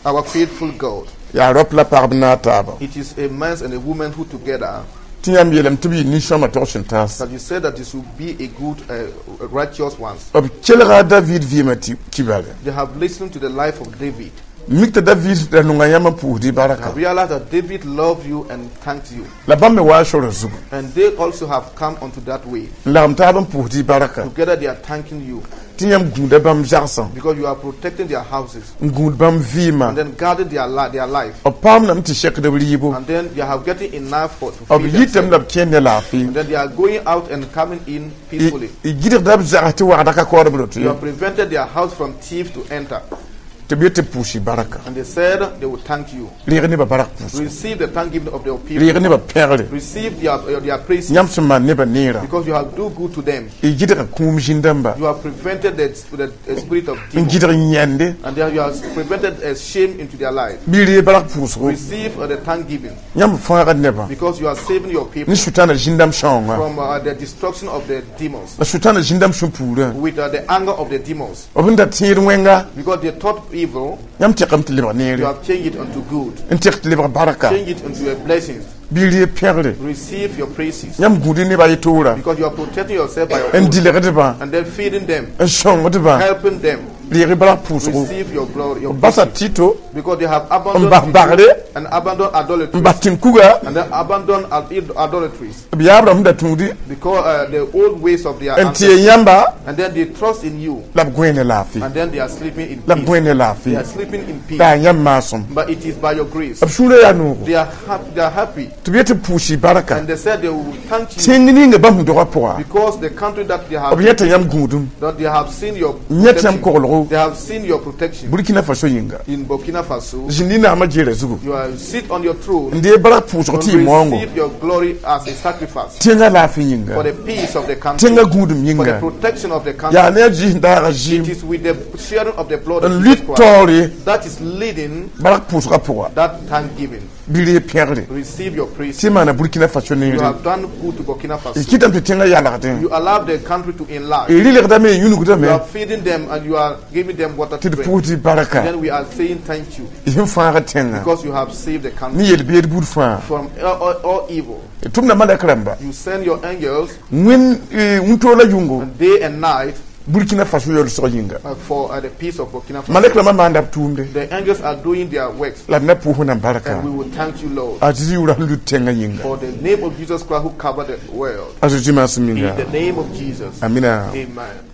Our faithful God. Yaa rap la pagb naag taaba. It is a man and a woman who together Tɩ yãmb yeelame tɩ b yɩ nin-sõma tog sẽn taas. that you said that this will be a good, righteous ones. B kelga a David vɩɩmã tɩ kibale. They have listened to the life of David. Mik tɩ David ra nonga yãmb n pʋʋsd y barka. Have realized that David loved you and thanked you. La bãmb me waa sora zugu. And they also have come onto that way. N lagem taab n pʋʋsd y barka. Together they are thanking you Tɩ yãmb gũuda bãmb zagsã. because you are protecting their houses N gũud bãmb vɩɩmã. and then guarding their life. B paamdame tɩ sekd b rɩɩbo. And then they are getting enough for to B feed yitame themselves. la b kẽer ne laafɩ. And then they are going out and coming in peacefully. Y gɩdgda b zags tɩ wagda ka kaood b roto You ye. have prevented their house from thieves to enter. Tɩ b yet tɩ b pʋʋs-y baraka. And they said they will thank you. Reeg nebã bark pʋʋsgo. Receive the thanksgiving of their people. Reeg nebã pẽgre. Receive their praises Yãmb sẽn maan nebã neerã. Because you have do good to them. Y gɩdga kũum zĩn-dãmba. You have prevented the spirit of N demons. gɩdg yãnde. And then you have prevented shame into their life. Bɩ y reeg bark pʋʋsgo. Receive the thanksgiving Yãmb fãagd nebã. Because you are saving your people Ne sʋtãana zĩn-dãmb sãoongã. From the destruction of the demons La sʋtãana zĩn-dãmb sũ-puurã. With the anger of the demons. B sẽn da tẽed wẽnga. Because they thought evil, Yãmb tɛkame tɩ lebg you neere. Have changed it unto good. N tɛk tɩ lebg barka. Change it unto a blessing. Bɩ y reeg pẽgre. Receive your praises Yãmb gũud nebã y toora. Because you are protecting yourself by your N oath dɩlgdbã. And then feeding them, N sõngdbã. Helping them. Reeg bark pʋʋsgo. Receive your glory, your Basa blessing. tito. Because they have abandoned N bas bagre. And abandoned idolatry N bas tẽn-kuga. And then abandoned idolatries B yaab rãmb da tũudi. Because the old ways of their N tɩ ancestors. yãmba. And then they trust in you La b gõe ne laafɩ. And then they are sleeping in La b peace. gõe ne They laafɩ. are sleeping in peace. La yaa yãmb maasem. But it is by your grace. B sũurã yaa noogo. They are happy. They are happy. Tɩ b yet tɩ b pʋʋs-y barka. And they said they will thank you Tẽng ninga bãmb sẽn dogã pʋga. Because the country that they have B yeta yãmb gũudum. That they have seen your Yẽt yãmb protection. koglgo. They have seen your protection Burkina Faso yĩnga. In Burkina Faso. Zĩnd naamã jeerã zugu. You are sit on your throne N dee bark pʋʋsg tɩ y and maoongo. receive your glory as a sacrifice Tẽngã laafɩ yĩnga. For the peace of the country, Tẽngã gũudum for the yĩnga. Protection of the country. Yaa ne a zɩɩs n daaga zɩɩm. It is with the sharing of the blood of N Jesus lut Christ taoore. That is leading Bark pʋʋsgã pʋga. That thanksgiving. Bɩ reeg pẽgre. Receive your praise. Tɩ maana Burkina Faso You neere. Have done good to Burkina Y Faso. kɩtame tɩ tẽngã yalgdẽ. You allow the country to enlarge. Y rɩlgdame y yũnugdame. You are feeding them and you are giving them water to Tɩ d drink. pʋʋs tɩ barka. Then we are saying thank you Y sẽn fãagd tẽngã. Because you have saved the country Ne yel-beed buud fãa. From all evil. Tʋmda malɛk rãmba. You send your angels Wẽn wĩntoog la yʋngo. Day and night Burkina Faso yolsg yĩnga. For the peace of Burkina Faso. Malɛk rãmbã maanda b tʋʋmde. The angels are doing their works. La d na pʋʋs Wẽnnaam barka. And we will thank you, Lord, A Zezi yʋʋra sẽn lut tẽngã yĩnga. For the name of Jesus Christ who covered the world. A Zezi maasem In yĩnga. the name of Jesus. Amina. Amen.